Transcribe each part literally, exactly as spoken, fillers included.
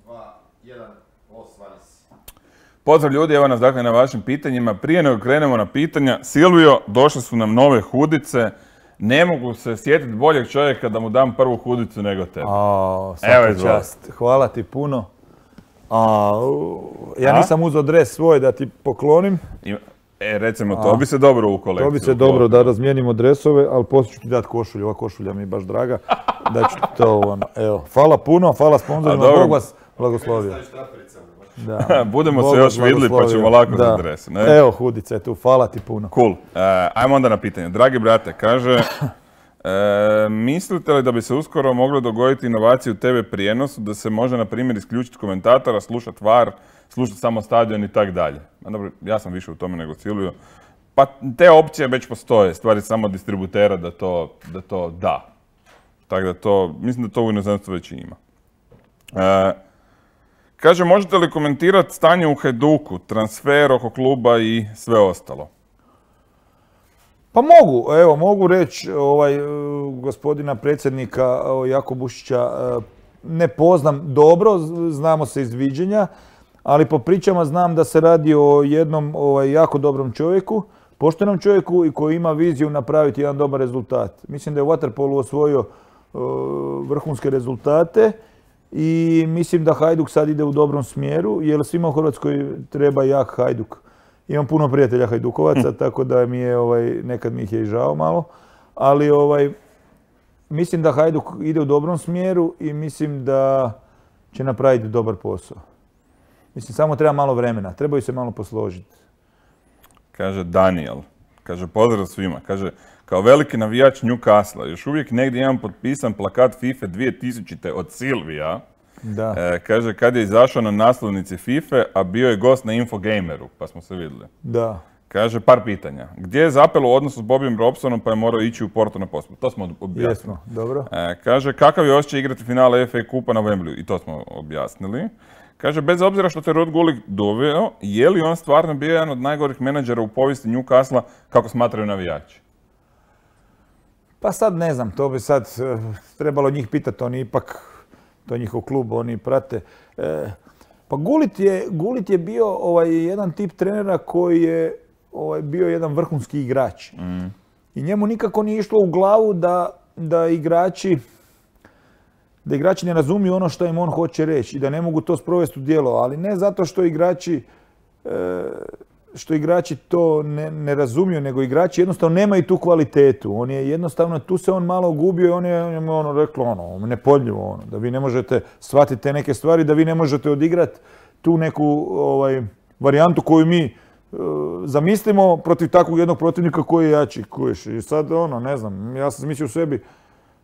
dva, jedan, osvani si. Pozdrav ljudi, evo nas dakle na vašim pitanjima. Prije nego krenemo na pitanja, Silvio, došle su nam nove hudice. Ne mogu se sjetiti boljeg čovjeka da mu dam prvu hudicu nego tebe. A, svaka čast. Hvala ti puno. A, ja nisam uzeo dres svoj da ti poklonim. E, recimo, to bi se dobro u kolekciju. To bi se dobro da razmijenimo dresove, ali poslije ću ti dati košulju. Ova košulja mi je baš draga. Da ću ti to, ono, evo. Hvala puno, hvala sponzorima, Bog vas blagoslovio. Da. Budemo se još vidjeli pa ćemo lako za dres. Ne? Evo hudice tu, hvala ti puno. Cool. Uh, ajmo onda na pitanje. Dragi brate, kaže, e, mislite li da bi se uskoro moglo dogoditi inovacije u te ve prijenosu, da se može, na primjer, isključiti komentatora, slušati var, slušati samo stadion i tak dalje? Dobro, ja sam više u tome nego Silvio. Pa te opcije već postoje, stvari samo distributera da to da. To da. Tako da to, mislim da to u inozemstvu već ima. E, Kaže, možete li komentirati stanje u Hajduku, transfer oko kluba i sve ostalo? Pa mogu, evo, mogu reći ovaj, gospodina predsjednika Jako Bušića, ne poznam dobro, znamo se iz viđenja, ali po pričama znam da se radi o jednom ovaj, jako dobrom čovjeku, poštenom čovjeku i koji ima viziju napraviti jedan dobar rezultat. Mislim da je u vaterpolu osvojio uh, vrhunske rezultate. I mislim da Hajduk sad ide u dobrom smjeru, jer svima u Hrvatskoj treba jak Hajduk. Imam puno prijatelja Hajdukovaca, hm. tako da mi je, ovaj, nekad mi ih je i žao malo. Ali ovaj, mislim da Hajduk ide u dobrom smjeru i mislim da će napraviti dobar posao. Mislim, samo treba malo vremena, trebaju se malo posložiti. Kaže Daniel, kaže pozdrav svima, kaže, kao veliki navijač Newcastle, još uvijek negdje imam potpisan plakat FIFA dvije tisućite od Silvija. Da. E, kaže, kad je izašao na naslovnici FIFA, a bio je gost na Infogameru, pa smo se vidjeli. Da. Kaže, par pitanja. Gdje je zapelo u odnosu s Bobijom Robsonom pa je morao ići u Porto na poslu? To smo objasnili. Jesmo, dobro. E, kaže, kakav je osjećaj igrati finale F A kupa na Wembleyu? I to smo objasnili. Kaže, bez obzira što te Ruud Gullit doveo, je li on stvarno bio jedan od najgorih menadžera u povijesti Newcastle, kako smatraju navijači? Pa sad ne znam, to bi sad uh, trebalo njih pitati, oni ipak, to je njihov klub, oni prate. E, pa Gullit je, Gullit je bio ovaj, jedan tip trenera koji je ovaj, bio jedan vrhunski igrač. Mm. I njemu nikako nije išlo u glavu da, da igrači da igrači ne razumiju ono što im on hoće reći i da ne mogu to sprovesti u djelo, ali ne zato što igrači e, što igrači to ne, ne razumiju, nego igrači jednostavno nemaju tu kvalitetu. On je jednostavno, tu se on malo gubio i on je, on je ono reklo ono, nepodljivo ono, da vi ne možete shvatiti te neke stvari, da vi ne možete odigrati tu neku ovaj, varijantu koju mi e, zamislimo protiv takvog jednog protivnika koji je jači. Kuješ. I sad ono, ne znam, ja sam mislio u sebi,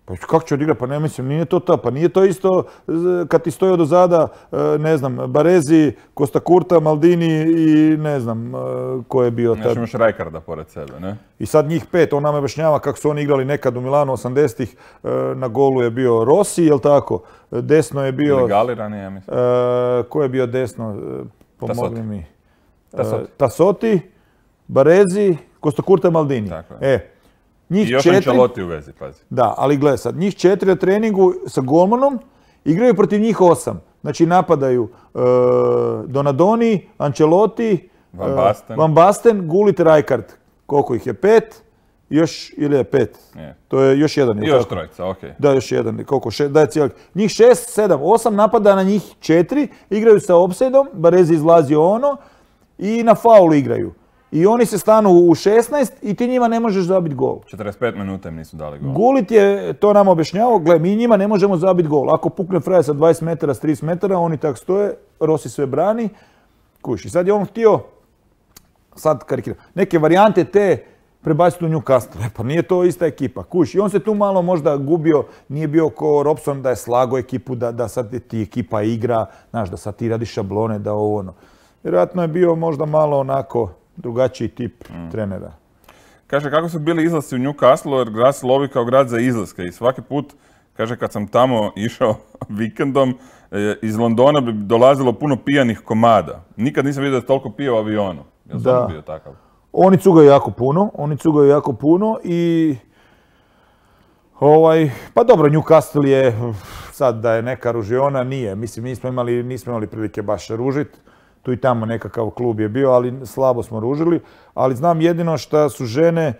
pa kako će odigrati? Pa ne mislim, nije to to. Pa nije to isto kad ti stoji odozada, ne znam, Baresi, Costa Curta, Maldini i ne znam ko je bio tad. Znači imaš Rijkaarda pored sebe, ne? I sad njih pet, on nam objašnjava kako su oni igrali nekad u Milanu osamdesetih. Na golu je bio Rossi, jel tako? Desno je bio... Ili Galirani, ja mislim. Ko je bio desno? Pomogli mi. Tasoti. Tasoti, Baresi, Costa Curta, Maldini. Tako je. E, njih I još četiri, Ancelotti u vezi, pazi. Da, ali gledaj sad, njih četiri na treningu sa golmanom igraju protiv njih osam. Znači napadaju e, Donadoni, Ancelotti, Van Basten, e, Van Basten, Gullit, Rijkaard. Koliko ih je? Pet? Još, ili je pet? Je. To je još jedan. I još trojica, okej. Okay. Da, još jedan. Koliko? Še, da je cijeli. Njih šest, sedam, osam napada na njih četiri, igraju sa offside-om, Baresi izlazi ono i na faulu igraju. I oni se stanu u šesnaest i ti njima ne možeš zabiti gol. četrdeset pet minuta im nisu dali gol. Gullit je to nam objašnjavao, gle, mi njima ne možemo zabiti gol. Ako pukne frajer sa dvadeset metara, s trideset metara, oni tak stoje, Rossi sve brani. Kuš. I sad je on htio, sad karikiram, neke varijante te prebaciti u Newcastle. E, pa nije to ista ekipa. Kuš. I on se tu malo možda gubio, nije bio ko Robson da je slago ekipu, da, da sad ti ekipa igra, znaš, da sad ti radiš šablone, da ovo ono. Vjerojatno je bio možda malo onako drugačiji tip mm. trenera. Kaže, kako su bili izlasci u Newcastle, jer grad se lovi kao grad za izlaske i svaki put, kaže, kad sam tamo išao vikendom, iz Londona bi dolazilo puno pijanih komada. Nikad nisam vidio da je toliko pio u avionu. Jel da. Bio takav? Oni cugaju jako puno, oni cugaju jako puno i ovaj, pa dobro, Newcastle je sad da je neka ružiona, nije. Mislim, nismo imali, nismo imali prilike baš ružiti. Tu i tamo nekakav klub je bio, ali slabo smo ružili. Ali znam jedino što su žene e,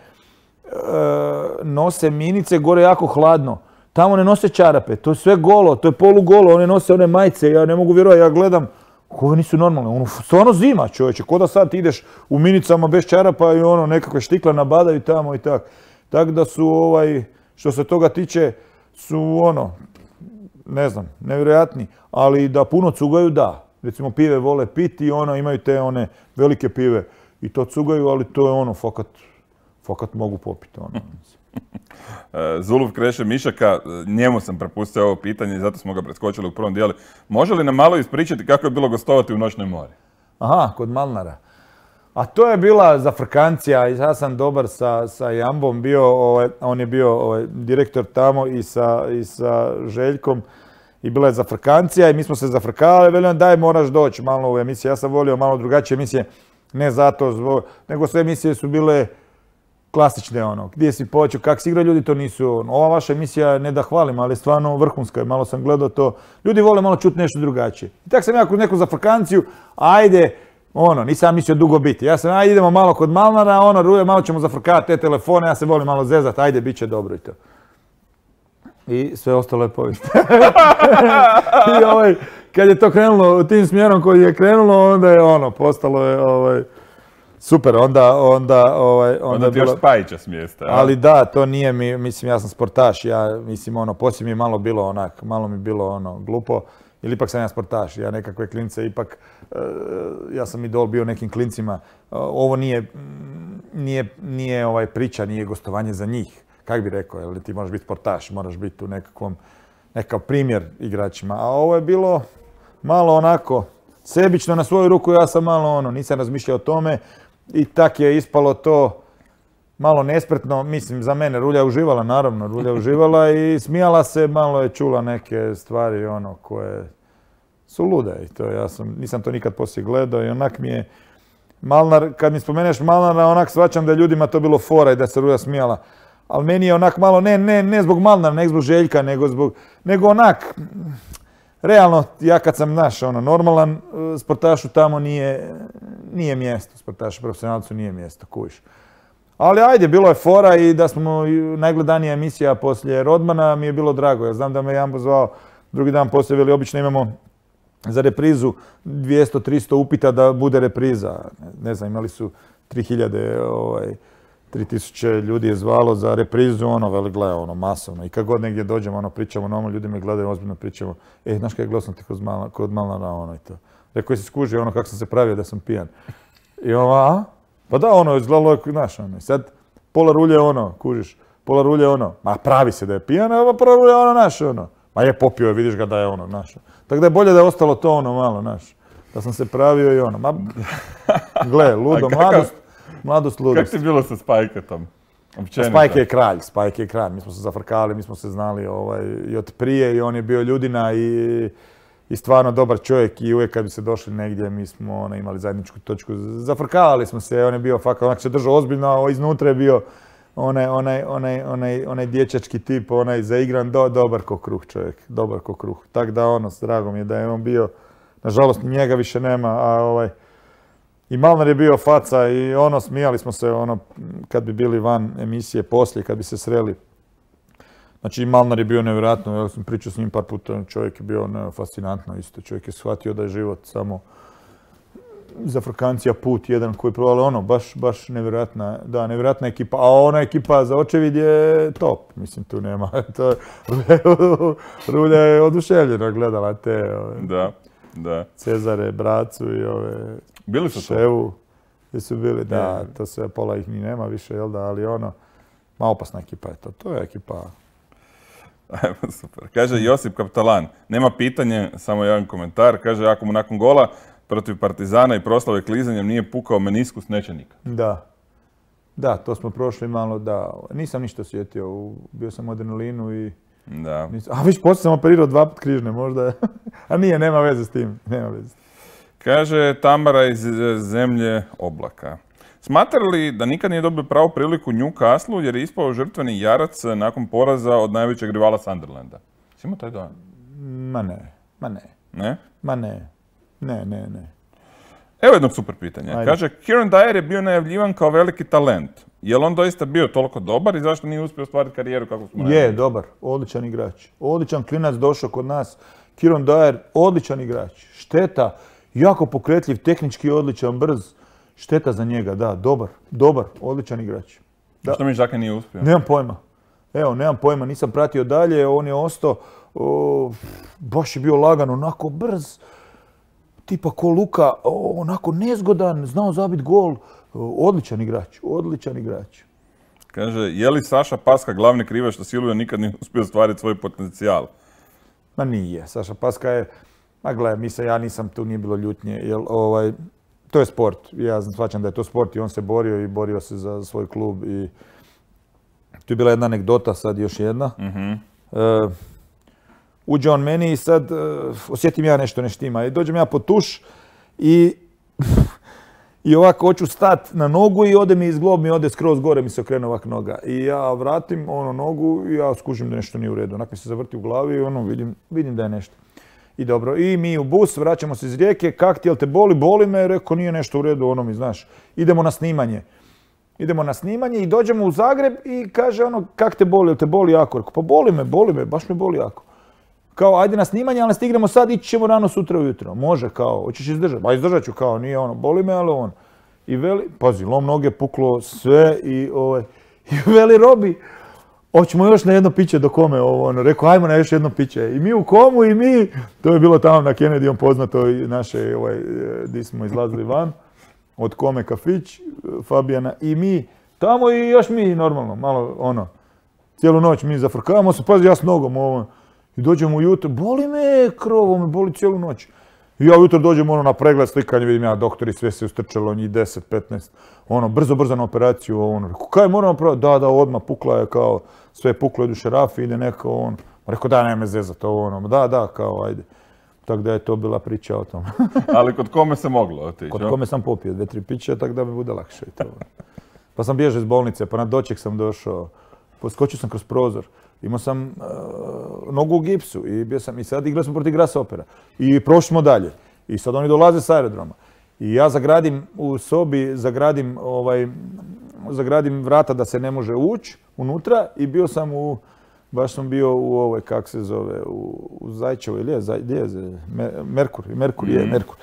nose minice, gore jako hladno. Tamo ne nose čarape, to je sve golo, to je polugolo, one nose one majice, ja ne mogu vjerovati, ja gledam, ovo nisu normalne, ono, stvarno zima čovječe, ko da sad ideš u minicama bez čarapa i ono, nekakve štikle nabadaju tamo i tak. Tako da su, ovaj, što se toga tiče, su ono, ne znam, nevjerojatni, ali da puno cugaju, da. Recimo pive vole piti i ono, imaju te one velike pive i to cugaju, ali to je ono, fakat, fakat mogu popiti, ono. Zuluf Kreše Mišaka, njemu sam prepustio ovo pitanje i zato smo ga preskočili u prvom dijelu. Može li nam malo ispričati kako je bilo gostovati u Noćnoj mori? Aha, kod Malnara. A to je bila zafrkancija, ja sam dobar sa, sa Jambom bio, ovaj, on je bio ovaj, direktor tamo i sa, i sa Željkom i bila je zafrkancija i mi smo se zafrkavali, velim daj moraš doći malo u emisiju, ja sam volio malo drugačije emisije, ne zato, zbog, nego sve emisije su bile klasične ono, gdje si počeo, kak si igrao, ljudi to nisu, ono. Ova vaša emisija, ne da hvalim, ali je stvarno vrhunska, malo sam gledao to, ljudi vole malo čuti nešto drugačije. I tako sam ja kod neku zafrkanciju, ajde, ono, nisam mislio dugo biti, ja sam, ajde idemo malo kod Malnara, ono, Ruje, malo ćemo zafrkavati te telefone, ja se volim malo zezat, ajde, bit će dobro i to. I sve ostalo je povijest. I ovaj, kad je to krenulo tim smjerom koji je krenulo, onda je ono, postalo je, ovaj, super, onda... Onda, ovaj, onda, onda ti još Spajića smjesta. Ali da, to nije mi, mislim, ja sam sportaš, ja, mislim, ono, poslije mi je malo bilo onak, malo mi bilo ono, glupo, ili ipak sam ja sportaš, ja nekakve klince, ipak, uh, ja sam idol bio nekim klincima, uh, ovo nije, nije, nije ovaj priča, nije gostovanje za njih, kak bi rekao, jer ti moraš biti sportaš, moraš biti u nekakvom, nekakav primjer igračima, a ovo je bilo malo onako, sebično na svoju ruku, ja sam malo ono, nisam razmišljao o tome i tak je ispalo to malo nespretno, mislim za mene, Rulja je uživala, naravno, Rulja je uživala i smijala se, malo je čula neke stvari ono koje su lude i to ja sam, nisam to nikad poslije gledao i onak mi je Malnar, kad mi spomeneš Malnara, onak shvaćam da je ljudima to bilo fora i da se Rulja smijala, ali meni je onak malo, ne, ne, ne zbog Malnara, ne zbog Željka, nego zbog, nego onak, realno, ja kad sam naš, ono, normalan, sportašu tamo nije, nije mjesto, sportašu profesionalcu nije mjesto, kužiš. Ali ajde, bilo je fora i da smo najgledanija emisija poslije Rodmana mi je bilo drago. Ja znam da me Jambo zvao drugi dan poslije, veli obično imamo za reprizu dvjesto tristo upita da bude repriza. Ne znam, imali su tri hiljade, ovaj, tri tisuće ljudi je zvalo za reprizu, ono, veli, gledaj, ono, masovno. I kad god negdje dođemo, ono, pričamo, normalno, ljudi me gledaju, ozbiljno pričamo. E, znaš kaj, gledao sam ti kod, Mal, kod Malnara, ono, i to. Rekao, si skužio, ono, kako sam se pravio da sam pijan. I ono, a? Pa da, ono, izgledalo je, znaš, ono, i sad pola Rulje, ono, kužiš, pola Rulje, ono, ma pravi se da je pijan, a pola Rulje, ono, naš, ono. Ma je popio je, vidiš ga da je, ono, naš. Tako da je bolje da je ostalo to, ono, malo, naš. Da sam se pravio i ono, ma, gle, ludo, mladost. Mladost, ludost. Kako ti bilo sa Spajketom? Spajke je kralj, Spajke je kralj. Mi smo se zafrkali, mi smo se znali ovaj, i od prije i on je bio ljudina i, i stvarno dobar čovjek i uvijek kad bi se došli negdje mi smo ona, imali zajedničku točku. Zafrkavali smo se, on je bio fakat, onak se držao ozbiljno, a iznutra je bio onaj, onaj, onaj, onaj, onaj dječački tip, onaj zaigran, do, dobar ko kruh čovjek, dobar ko kruh. Tako da ono, s dragom je da je on bio, nažalost njega više nema, a ovaj, i Malnar je bio faca i ono, smijali smo se ono, kad bi bili van emisije poslije, kad bi se sreli. Znači, Malnar je bio nevjerojatno, ja sam pričao s njim par puta, čovjek je bio ne, fascinantno isto, čovjek je shvatio da je život samo zafrkancija put jedan koji je provali, ono, baš, baš nevjerojatna, da, nevjerojatna ekipa, a ona ekipa za očevid je top, mislim, tu nema, to, Rulja je oduševljena gledala te, ove, da, da. Cezare, Bracu i ove... Bili su Ševu, gdje su bili, da, to sve, pola ih ni nema više, jel da, ali ono, ma opasna ekipa je to, to je ekipa. Super. Kaže Josip Kaptalan, nema pitanje, samo jedan komentar, kaže ako mu nakon gola protiv Partizana i proslave klizanjem nije pukao meniskus, neće nikad. Da, da, to smo prošli malo, da, nisam ništa osjetio, bio sam u adrenalinu i... Da. Nisam, a viš, poslije sam operirao dva put križne, možda, a nije, nema veze s tim, nema veze s tim. Kaže Tamara iz zemlje oblaka. Smatra li da nikad nije dobio pravu priliku Newcastle jer je ispao žrtveni jarac nakon poraza od najvećeg rivala Sunderlanda? Si imao taj dojam? Ma ne, ma ne, Ne? ma ne, ne, ne, ne. Evo jednog super pitanja. Ajde. Kaže, Kieran Dyer je bio najavljivan kao veliki talent. Je li on doista bio toliko dobar i zašto nije uspio ostvariti karijeru kako smo najavili? Je, dobar, odličan igrač. Odličan klinac došao kod nas. Kieran Dyer, odličan igrač. Šteta, jako pokretljiv, tehnički odličan, brz. Šteta za njega, da, dobar, dobar, odličan igrač. Da. Što mi Žaka nije uspio? Nemam pojma. Evo, nemam pojma, nisam pratio dalje, on je ostao, o, baš je bio lagan, onako brz, tipa ko Luka, o, onako nezgodan, znao zabiti gol. O, odličan igrač, odličan igrač. Kaže, je li Saša Paska glavni krivac što Silvio nikad nije uspio ostvariti svoj potencijal? Ma nije, Saša Paska je, ma gledaj, mi se, ja nisam, tu nije bilo ljutnje, jer ovaj, to je sport. Ja shvaćam da je to sport i on se borio i borio se za svoj klub i tu je bila jedna anegdota, sad još jedna. Mhm. E, uđe on meni i sad e, osjetim ja nešto ne štima i dođem ja pod tuš i i ovako hoću stat na nogu i ode mi iz glob mi ode skroz gore mi se okrene ovak noga. I ja vratim ono nogu i ja skužim da nešto nije u redu. Onak mi se zavrti u glavi i ono vidim, vidim da je nešto. I dobro, i mi u bus, vraćamo se iz Rijeke, kak ti, jel te boli? Boli me, rekao nije nešto u redu, ono mi znaš. Idemo na snimanje. Idemo na snimanje i dođemo u Zagreb i kaže ono, kak te boli, jel te boli jako? Rekao, pa boli me, boli me, baš me boli jako. Kao, ajde na snimanje, ali ne stignemo sad, ići ćemo rano sutra ujutro. Može, kao, hoćeš izdržati? Ba izdržat ću, kao, nije ono, boli me, ali on. I veli, pazi, lom noge, puklo sve i ovaj, i veli Robi, hoćemo još na jedno piće do kome ovo, ono, rekao, ajmo na još jedno piće. I mi u komu i mi, to je bilo tamo na Kennedyom poznato i naše, ovaj, di smo izlazili van, od kome kafić, Fabijana, i mi tamo i još mi normalno, malo ono, cijelu noć mi zafrkavamo se, pazi, ja s nogom ovo, i dođemo ujutro, boli me krovo, me boli cijelu noć. I ja ujutro dođem ono na pregled slikanje, vidim ja doktori, sve se ustrčalo, njih deset, petnaest, ono, brzo, brzo na operaciju, ono, rekao, kaj moramo praviti? Da, da, odmah, pukla je, kao, sve je puklo, idu šerafi, ide neko, ono, rekao, da, nema me zezat, ono, da, da, kao, ajde. Tako da je to bila priča o tom. Ali kod kome se moglo otići? Kod kome sam popio dve, tri piće, tako da mi bude lakše. To. Pa sam bježao iz bolnice, pa na doček sam došao, poskočio sam kroz prozor. Imao sam uh, nogu u gipsu i bio sam, i sad igrali smo protiv Grasshoppera. I prošli smo dalje. I sad oni dolaze s aerodroma. I ja zagradim u sobi, zagradim, ovaj, zagradim vrata da se ne može ući unutra i bio sam u, baš sam bio u ovoj, kak se zove, u, u Zajčevoj, ili je, Zaj, je Merkur, Merkur je, Merkur.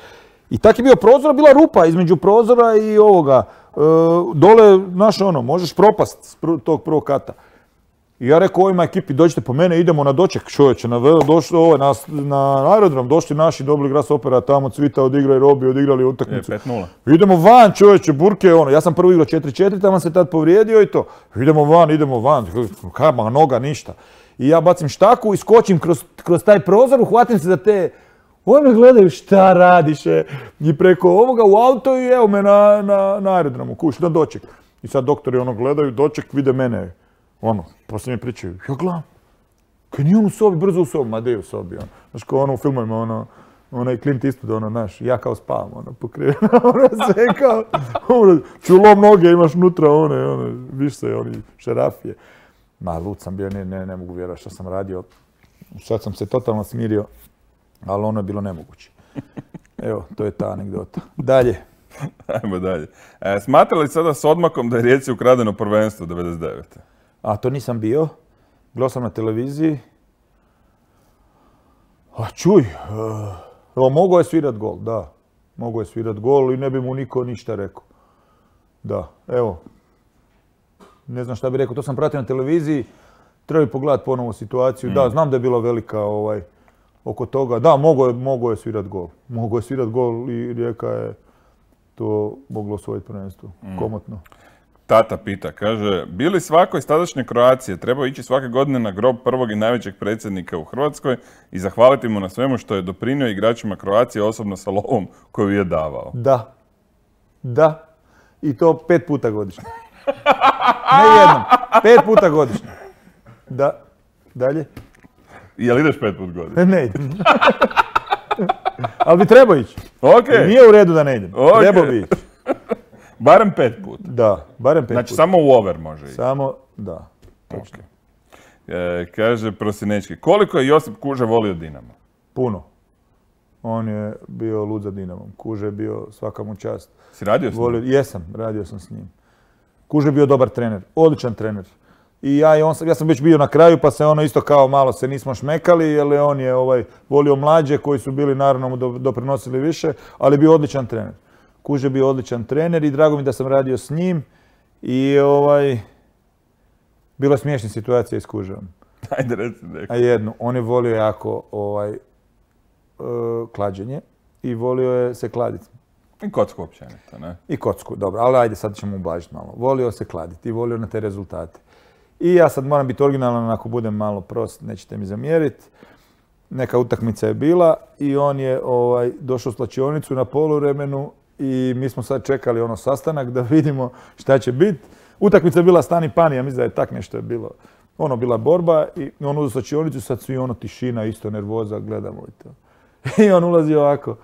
I tak je bio prozor, bila rupa između prozora i ovoga. E, dole, znaš ono, možeš propast s pr tog prvog kata. I ja rekao ovima ekipi, dođite po mene, idemo na doček, čovječe, na, došli, ovaj, na, na aerodrom, došli naši, dobili Grasshoppera, tamo Cvita odigrao i Robi, odigrali utakmicu. pet nula. Idemo van, čovječe, burke, ono, ja sam prvo igrao četiri četiri, tamo se tad povrijedio i to. Idemo van, idemo van, kama, noga, ništa. I ja bacim štaku i skočim kroz, kroz taj prozor, uhvatim se za te. Oni me gledaju šta radiš, e? I preko ovoga u auto i evo me na, na, na aerodromu, kuš, na doček. I sad doktori ono gledaju, doček, vide mene, ono, poslije mi pričaju, ja gledam, kaj nije on u sobi, brzo u sobi, ma de je u sobi, ono. Znaš, kao ono u filmovima, ono, onaj Clint Eastwood, ono, znaš, ja kao spavam, ono, pokriveno, ono, sve kao, ono, čulom noge imaš unutra, one, ono, viš se, oni, šerafije. Ma, lud sam bio, ne, ne, ne mogu vjerovati što sam radio, sad sam se totalno smirio. Ali ono je bilo nemoguće. Evo, to je ta anegdota. Dalje. Ajmo dalje. E, smatra li sada s odmakom da je Rijeci ukradeno prvenstvo devedeset devete? A to nisam bio. Gledao sam na televiziji. A čuj, evo, mogao je svirat gol, da. Mogao je svirat gol i ne bi mu niko ništa rekao. Da, evo. Ne znam šta bi rekao, to sam pratio na televiziji. Treba bi pogledati ponovo situaciju. Mm. Da, znam da je bila velika ovaj, oko toga. Da, mogao je, mogao je svirat gol. Mogao je svirat gol i Rijeka je to moglo osvojiti prvenstvo. Mm. Komotno. Tata pita, kaže, bi li svako iz tadašnje Kroacije trebao ići svake godine na grob prvog i najvećeg predsjednika u Hrvatskoj i zahvaliti mu na svemu što je doprinio igračima Kroacije, osobno sa lovom koju je davao? Da. Da. I to pet puta godišnje. Ne jednom. Pet puta godišnje. Da. Dalje. Jel ideš pet put godišnje? Ne idem. Ali bi trebao ići. Okay. Nije u redu da ne idem. Okay. Trebao bi ići. Barem pet put. Da, barem pet znači, put. samo u over može ići. Samo, da. Točno. Okay. E, kaže Prosinečki, koliko je Josip Kuža volio Dinamo? Puno. On je bio lud za Dinamom. Kuža je bio svaka mu čast. Si radio s njim? Volio, jesam, radio sam s njim. Kuža je bio dobar trener, odličan trener. I ja i on sam, ja sam već bio na kraju pa se ono isto kao malo se nismo šmekali jer on je ovaj, volio mlađe koji su bili naravno mu doprinosili više, ali bio odličan trener. Kuža je bio odličan trener i drago mi da sam radio s njim i ovaj, bila je smiješna situacija s Kužom. Ajde reci neko. A jednu, on je volio jako ovaj, uh, klađenje i volio je se kladiti. I kocku općenito, ne? I kocku, dobro, ali ajde sad ćemo ublažiti malo. Volio se kladiti i volio na te rezultate. I ja sad moram biti originalan, ako budem malo prost, nećete mi zamjeriti. Neka utakmica je bila i on je ovaj, došao u slačionicu na poluvremenu i mi smo sad čekali ono sastanak da vidimo šta će biti. Utakmica je bila stani pani, ja mislim da je tak nešto je bilo. Ono bila borba i on u slačionicu, sad svi ono tišina, isto nervoza, gledamo i to. I on ulazi ovako.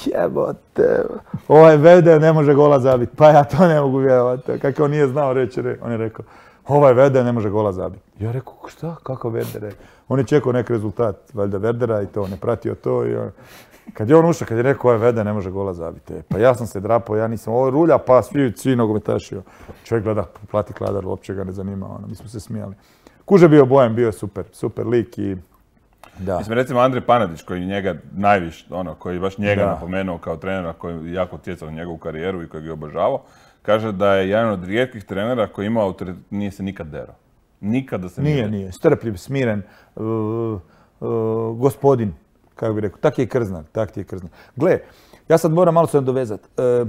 Jebote, ovaj Vede ne može gola zabiti. Pa ja to ne mogu vjerovati. Kako on nije znao reći, on je rekao, ovaj Vede ne može gola zabiti. Ja rekao, šta, kako Verde? On je čekao neki rezultat, valjda Verdera i to, on je pratio to i on... Kad je on ušao, kad je rekao, ovaj Vede ne može gola zabiti. Pa ja sam se drapao, ja nisam, ovo rulja, pa svi, svi nogometaši. Čovjek gleda, plati kladar, uopće ga ne zanima, ono, mi smo se smijali. Kuža bio Bojan, bio je super, super lik i... Da. Mislim, recimo Andrej Panadić, koji njega najviše, ono, koji baš njega Da. napomenuo kao trenera, koji je jako utjecao na njegovu karijeru i koji ga je obožavao, kaže da je jedan od rijetkih trenera koji ima autoritet, nije se nikad derao. Nikada se Nije, nije. Strpljiv, smiren, uh, uh, gospodin, kako bi rekao. Tak je i Krznar, tak ti je Krznar. Gle, ja sad moram malo se nadovezati. Uh,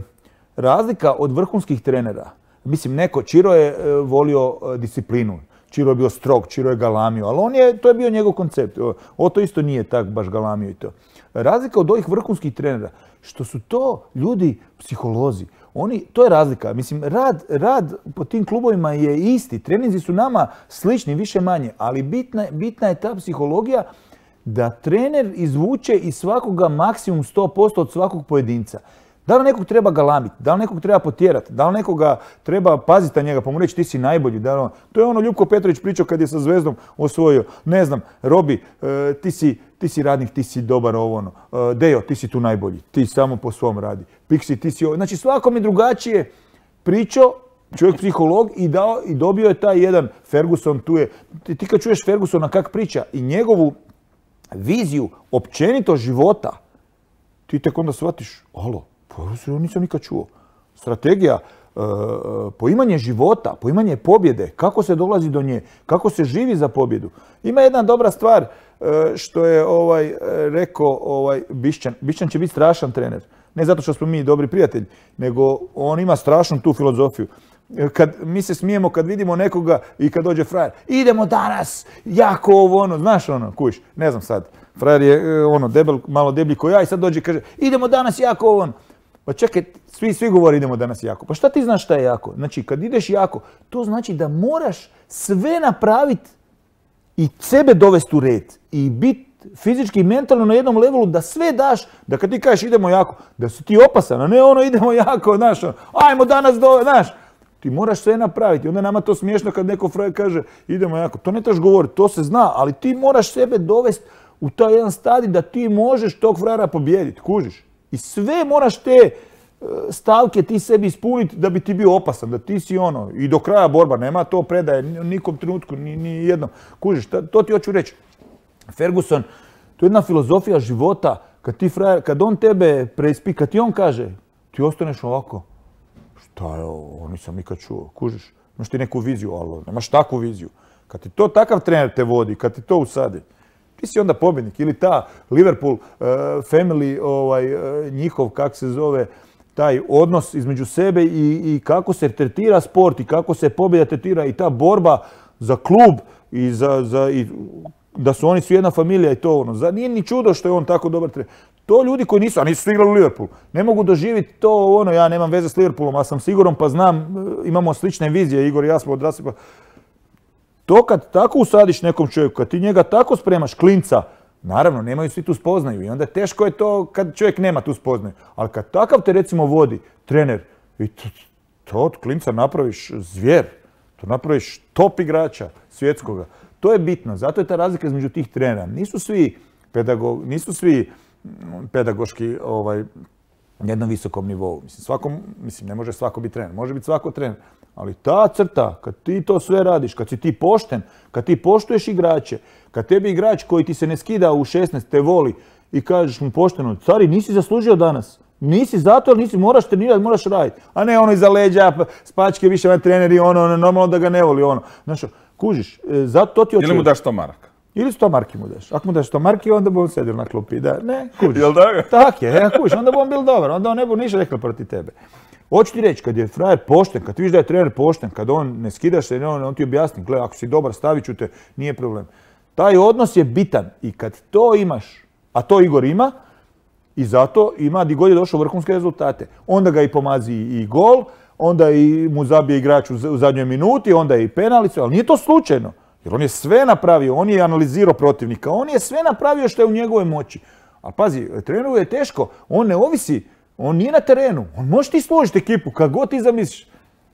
razlika od vrhunskih trenera, mislim, neko, Čiro je uh, volio uh, disciplinu. Čiro je bio strog, Čiro je galamio, ali on je, to je bio njegov koncept. Oto isto nije tak baš galamio i to. Razlika od ovih vrhunskih trenera, što su to ljudi psiholozi. Oni, to je razlika. Mislim, rad, rad po tim klubovima je isti. Treninzi su nama slični, više manje, ali bitna, bitna je ta psihologija da trener izvuče iz svakoga maksimum sto posto od svakog pojedinca. Da li nekog treba galamiti, da li nekog treba potjerati, da li nekoga treba paziti na njega, pa mu reći ti si najbolji. Da li on... To je ono Ljubko Petrović pričao kad je sa Zvezdom osvojio. Ne znam, Robi, e, ti, si, ti si radnik, ti si dobar ovo ono. E, Dejo, ti si tu najbolji, ti samo po svom radi. Pixi, ti si ovo. Znači svakom je drugačije pričao, čovjek psiholog i, dao, i dobio je taj jedan Ferguson, tu je. Ti, ti kad čuješ Fergusona kak priča i njegovu viziju općenito života, ti tek onda shvatiš, alo, pa nisam nikad čuo. Strategija, e, poimanje života, poimanje pobjede, kako se dolazi do nje, kako se živi za pobjedu. Ima jedna dobra stvar e, što je ovaj, rekao ovaj, Bišćan. Bišćan će biti strašan trener. Ne zato što smo mi dobri prijatelji, nego on ima strašnu tu filozofiju. Kad mi se smijemo kad vidimo nekoga i kad dođe frajer, idemo danas, jako ovo ono, znaš ono, kuš, ne znam sad, frajer je ono debel, malo deblji ko ja i sad dođe i kaže, idemo danas jako ovo ono. Pa čekaj, svi, svi govori idemo danas jako. Pa šta ti znaš šta je jako? Znači, kad ideš jako, to znači da moraš sve napraviti i sebe dovesti u red i biti fizički i mentalno na jednom levelu da sve daš, da kad ti kažeš idemo jako, da si ti opasan, a ne ono idemo jako, znaš, ono, ajmo danas do, znaš. Ti moraš sve napraviti. Onda je nama to smiješno kad neko frajer kaže idemo jako. To ne trebaš govoriti, to se zna, ali ti moraš sebe dovesti u taj jedan stadij da ti možeš tog frajera pobijediti, kužiš. I sve moraš te stavke ti sebi ispuniti da bi ti bio opasan, da ti si ono, i do kraja borba, nema to predaje nikom trenutku, ni, ni jednom. Kužiš, to ti hoću reći. Ferguson, to je jedna filozofija života, kad ti frajer, kad on tebe preispi, kad ti on kaže, ti ostaneš ovako. Šta je ovo, nisam nikad čuo, kužiš. Imaš ti neku viziju, ali nemaš takvu viziju. Kad ti to takav trener te vodi, kad ti to usadi, ti si onda pobjednik. Ili ta Liverpool uh, family, ovaj, uh, njihov, kak se zove, taj odnos između sebe i, i kako se tretira sport i kako se pobjeda tretira i ta borba za klub i za, za i da su oni svi jedna familija i to ono. Za, nije ni čudo što je on tako dobar trener. To ljudi koji nisu, a nisu igrali u Liverpoolu, ne mogu doživjeti to ono, ja nemam veze s Liverpoolom, a sam siguran pa znam, imamo slične vizije, Igor i ja smo odrasli pa... To kad tako usadiš nekom čovjeku, kad ti njega tako spremaš, klinca, naravno, nemaju svi tu spoznaju i onda teško je to kad čovjek nema tu spoznaju. Ali kad takav te recimo vodi trener i to, to od klinca napraviš zvijer, to napraviš top igrača svjetskoga, To je bitno, zato je ta razlika između tih trenera. Nisu svi, pedagog, nisu svi pedagoški ovaj, na jednom visokom nivou. Mislim, svakom, mislim, ne može svako biti trener, može biti svako trener. Ali ta crta, kad ti to sve radiš, kad si ti pošten, kad ti poštuješ igrače, kad tebi igrač koji ti se ne skida u šesnaest te voli i kažeš mu pošteno, cari, nisi zaslužio danas. Nisi zato, jer nisi, moraš trenirati, moraš raditi. A ne ono iza leđa, spačke, više van treneri, ono, ono, normalno da ga ne voli, ono. Znaš, kužiš, zato to ti očekuje. Ili mu daš sto maraka. Ili sto marki mu daš. Ako mu daš sto marki, onda bi on sedio na klupi. Da, ne, kužiš. Jel tako? Tak je, ja, kužiš, onda bi on bil dobar, onda on ne bi ništa rekao protiv tebe. Hoću ti reći, kad je frajer pošten, kad ti vidiš da je trener pošten, kad on ne skidaš se, on, on ti objasni, gle, ako si dobar, stavit ću te, nije problem. Taj odnos je bitan i kad to imaš, a to Igor ima, i zato ima di god je došao vrhunske rezultate. Onda ga i pomazi i gol, onda i mu zabije igrač u zadnjoj minuti, onda i penalicu, ali nije to slučajno. Jer on je sve napravio, on je analizirao protivnika, on je sve napravio što je u njegovoj moći. Ali pazi, treneru je teško, on ne ovisi, on nije na terenu, on može ti složiti ekipu, kad god ti zamisliš.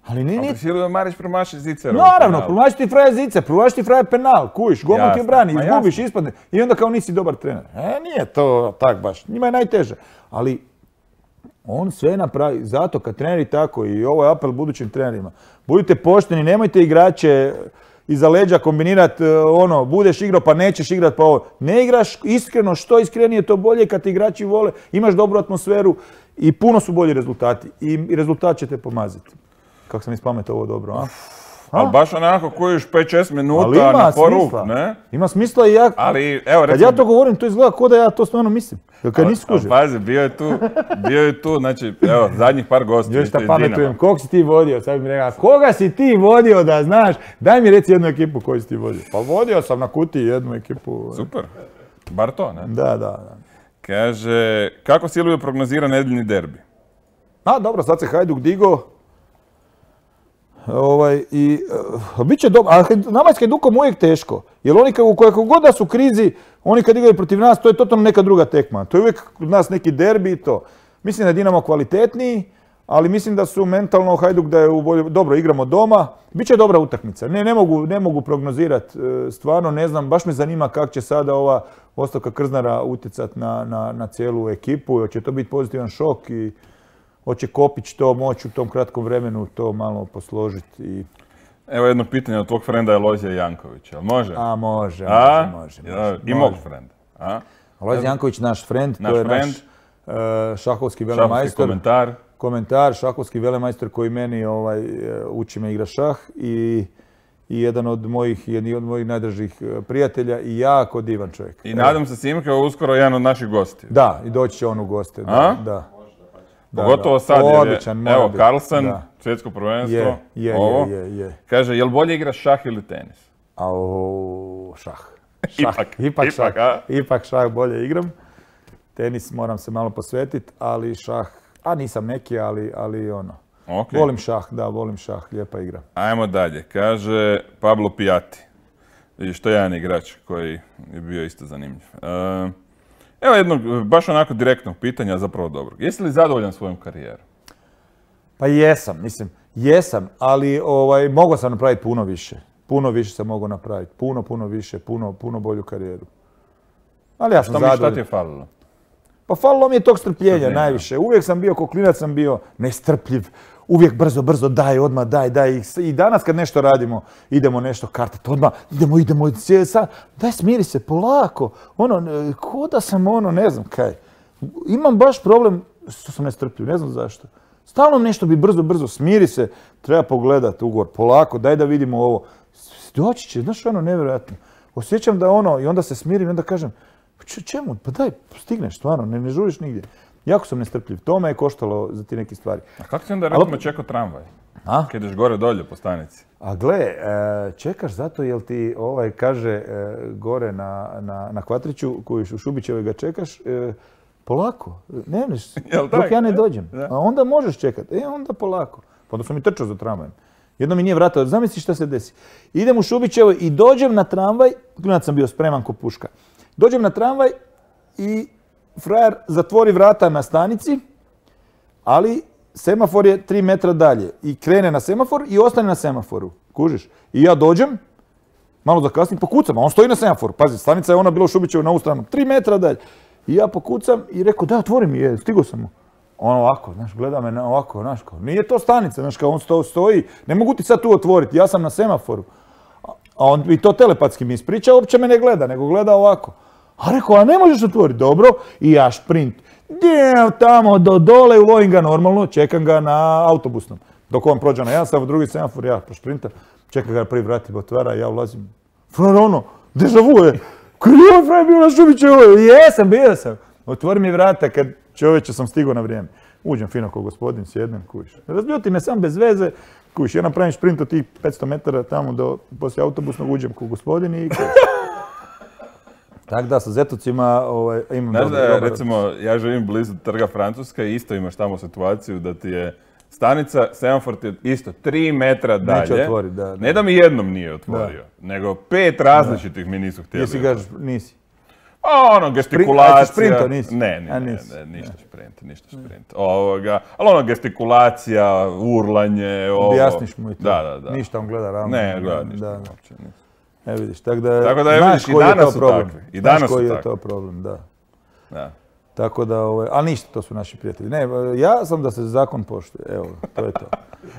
Ali nije... Ali Silvio Marić promaši zicer. Naravno, promaši ti frajer zicer, promaši ti frajer penal, kujiš, golman ti obrani, izgubiš, ispadne i onda kao nisi dobar trener. E, nije to tak baš, njima je najteže. Ali on sve napravi, zato kad treneri tako, i ovo je apel budućim trenerima, budite pošteni, nemojte igrače iza leđa kombinirati, ono, budeš igrao pa nećeš igrati pa ovo. Ne igraš iskreno, što iskrenije to bolje kad te igrači vole, imaš dobru atmosferu i puno su bolji rezultati i rezultat će te pomaziti. Kako sam ispametao ovo dobro, a? Ali baš onako kojiš pet šest minuta na poruk, ne? Ima smisla i ja... Ali, evo, recimo... Kad ja to govorim, to izgleda kao da ja to stvarno mislim. Kad nisi skužio. Pazi, bio je tu, bio je tu, znači, evo, zadnjih par gostiju. Još šta pametujem, kog si ti vodio? Sad mi rekao, koga si ti vodio da znaš? Daj mi reci jednu ekipu koju si ti vodio. Pa vodio sam na Kutiji jednu ekipu. Super. Bar to, ne? Da, da, da. Kaže, kako Silvio prognozira nedeljni derbi? A, dobro, sad se Hajduk digo. Ovaj, i, uh, bit će dobro, a nama je s Hajdukom uvijek teško, jer oni u kojeg god da su u krizi, oni kad igraju protiv nas, to je totalno neka druga tekma. To je uvijek kod nas neki derbi i to. Mislim da je Dinamo kvalitetniji, ali mislim da su mentalno Hajduk da je u bolje, dobro, igramo doma, bit će dobra utakmica. Ne, ne mogu, ne mogu prognozirati, stvarno ne znam, baš me zanima kako će sada ova ostavka Krznara utjecati na, na, na cijelu ekipu, hoće to biti pozitivan šok i hoće Kopić to moći u tom kratkom vremenu to malo posložiti. I... Evo jedno pitanje od tvog frenda Alojzija Jankovića. Može? A može, A? može, može. može. I mog frenda. Alojzij Janković, naš frend, naš to je friend. naš uh, šahovski velemajstor. Šahovski komentar. Komentar, šahovski velemajstor koji meni ovaj, uči me igra šah i, i jedan od mojih, jedan od mojih najdražih prijatelja i jako divan čovjek. I nadam se Simka uskoro jedan od naših gostiju. Da, i doći će on u goste. Da, da. Da, Pogotovo da. sad, jer Odličan, je, evo, biti. Carlsen, da. svjetsko prvenstvo, je, je, ovo, je, je, je. kaže, jel bolje igraš šah ili tenis? A o, šah. šah. Ipak, ipak, ipak, šah. a? Ipak šah bolje igram. Tenis moram se malo posvetiti, ali šah, a nisam neki, ali, ali ono. Okay. Volim šah, da, volim šah, lijepa igra. Ajmo dalje, kaže Pablo Pijati, što je jedan igrač koji je bio isto zanimljiv. Uh, Evo jednog, baš onako direktnog pitanja, zapravo dobrog. Jesi li zadovoljan svojom karijerom? Pa jesam, mislim, jesam, ali ovaj, mogao sam napraviti puno više. Puno više sam mogao napraviti, puno, puno više, puno, puno bolju karijeru. Ali ja sam zadovoljan. Šta ti je falilo? Pa falilo mi je tog strpljenja najviše. Uvijek sam bio, ko klinac sam bio nestrpljiv. Uvijek brzo, brzo daj, odmah daj, daj. I danas kad nešto radimo, idemo nešto kartati, odmah idemo, idemo, daj smiri se, polako. Ono, ko da sam ono, ne znam kaj. Imam baš problem što sam nestrpljiv, ne znam zašto. Stalno nešto bi brzo, brzo, smiri se, treba pogledati ugovor, polako, daj da vidimo ovo. Doći će, znaš ono, nevjerojatno. Osjećam da ono, i onda se smirim i onda kažem, čemu, pa daj, stigneš, stvarno, ne, ne žuriš nigdje. Jako sam nestrpljiv. To me je koštalo za ti neke stvari. A kako ti onda recimo čekao tramvaj? A? Kad ideš gore dolje po stanici? A gle, čekaš zato jel ti ovaj kaže gore na, na, na Kvatriću, koji u Šubićevoj ga čekaš, polako, ne neš, dok ja ne dođem. A onda možeš čekati, e onda polako. Pa onda sam mi trčao za tramvajem. Jedno mi nije vratao, zamisli šta se desi. Idem u Šubićevoj i dođem na tramvaj, klinac sam bio spreman ko puška. Dođem na tramvaj i frajer zatvori vrata na stanici, ali semafor je tri metra dalje i krene na semafor i ostane na semaforu. Kužiš? I ja dođem malo zakasnim, pokucam, a on stoji na semaforu. Pazi, stanica je ona bila u Šubićevu na ovu stranu, tri metra dalje. I ja pokucam i rekao, da, otvori mi je, stigo sam mu. On ovako, znaš, gleda me na ovako, znaš, kao, nije to stanica, znaš, kao on sto, stoji, ne mogu ti sad tu otvoriti, ja sam na semaforu. A on i to telepatski mi ispriča, uopće me ne gleda, nego gleda ovako. A rekao, a ne možeš otvoriti, dobro, i ja šprint. Djev, tamo do dole, ulovim ga normalno, čekam ga na autobusnom. Dok on prođe na jedan semafor, drugi semafor, ja pošprintam, čekam ga prvi vrati, otvara, ja ulazim. Frajer, ono, deja vu je. Koji je ovaj frajer bio na Šubićevoj? Jesam, bio sam. Otvori mi vrata kad čovječe sam stigao na vrijeme. Uđem fino ko gospodin, sjednem, kuš. Razljuti me sam bez veze, kuš. Ja napravim šprint od tih petsto metara tamo do poslije autobusnog, uđem ko gospodin i kuš. Tako da, sa Zetocima ovaj, imam Znaš dobro, da, dobro. recimo, ja živim blizu Trga Francuska i isto imaš tamo situaciju da ti je stanica, semafor ti je isto tri metra dalje. Neće otvorit, da, da. Ne da mi jednom nije otvorio, nego pet različitih mi nisu htjeli. Jesi ga, otvoriti. nisi? A ono, gestikulacija. A ti sprinto nisi? Ne, ne, A, ne, nisi. ne, ništa šprint, ništa šprint. Ovoga, ali ono, gestikulacija, urlanje, ovo. Objasniš mu i to. Da, da, da. Ništa on gleda ravno. Ne, gleda ništa Da, da. uopće. ne. E vidiš, tako da, Tako da, evo znaš vidiš, i koji je danas to su problem. takvi, i danas znaš su koji je takvi. to problem, da. Da. Tako da, ovaj, ali ništa, to su naši prijatelji. Ne, ja sam da se zakon poštuje, evo, to je to.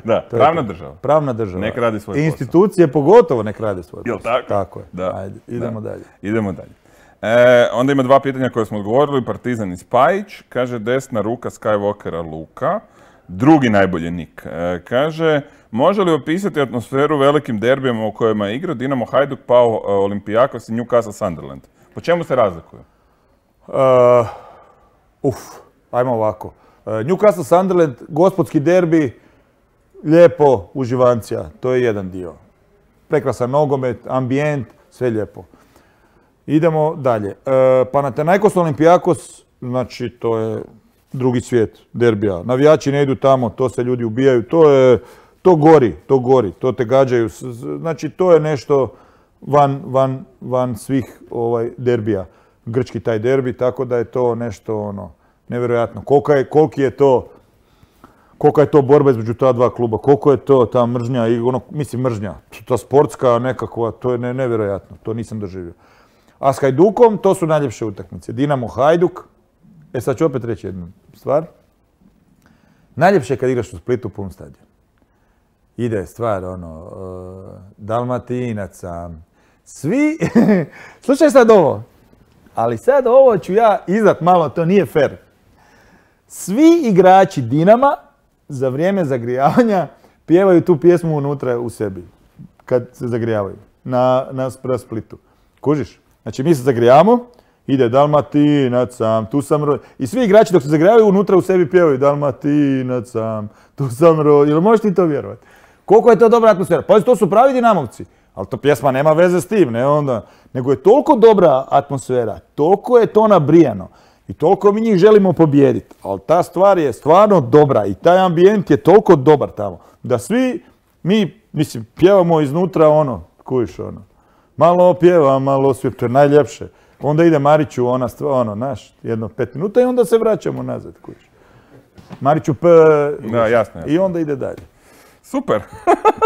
Da, To je pravna to. država. Pravna država. Nek radi svoj posao. Institucije pogotovo nek rade svoj Jel posao. tako? Tako je. Da. Ajde, idemo Da. dalje. Idemo dalje. E, onda ima dva pitanja koje smo odgovorili. Partizan i Spajić. Kaže, desna ruka Skywalkera Luka. Drugi najbolji nik. E, kaže, može li opisati atmosferu velikim derbijama u kojima je igrao Dinamo Hajduk, Pau Olimpijakos i Newcastle Sunderland? Po čemu se razlikuju? Uh, uf, ajmo ovako. Uh, Newcastle Sunderland, gospodski derbi, lijepo, uživancija, to je jedan dio. Prekrasan nogomet, ambijent, sve lijepo. Idemo dalje. Uh, Panathinaikos Olimpijakos, znači to je drugi svijet derbija. Navijači ne idu tamo, to se ljudi ubijaju, to je, to gori, to gori, to te gađaju. Znači to je nešto van, van, van svih ovaj, derbija. Grčki taj derbi, tako da je to nešto ono, nevjerojatno. Kolika je, koliki je to, kolika je to borba između ta dva kluba, koliko je to ta mržnja, i ono, mislim mržnja, ta sportska nekakva, to je ne, nevjerojatno, to nisam doživio. A s Hajdukom, to su najljepše utakmice. Dinamo Hajduk, e sad ću opet reći jednu stvar. Najljepše je kad igraš u Splitu pun stadion. Ide stvar, ono, uh, Dalmatinaca, svi, slušaj sad ovo, ali sad ovo ću ja izdat malo, to nije fair. Svi igrači Dinama za vrijeme zagrijavanja pjevaju tu pjesmu unutra u sebi, kad se zagrijavaju, na, na Splitu. Kužiš? Znači mi se zagrijamo, ide Dalmatinac sam, tu sam ro... I svi igrači dok se zagrijavaju unutra u sebi pjevaju Dalmatinac sam, tu sam ro... Jel možeš ti to vjerovati? Koliko je to dobra atmosfera? Pa to su pravi Dinamovci. Ali to pjesma nema veze s tim, ne onda. Nego je toliko dobra atmosfera, toliko je to nabrijano i toliko mi njih želimo pobijediti. Ali ta stvar je stvarno dobra i taj ambijent je toliko dobar tamo. Da svi mi, mislim, pjevamo iznutra ono, kujiš ono. Malo pjeva, malo svijet, to je najljepše. Onda ide Mariću, ona stvar, ono, naš, jedno pet minuta i onda se vraćamo nazad, kujiš. Mariću p... Da, jasno, jasno. I onda ide dalje. Super.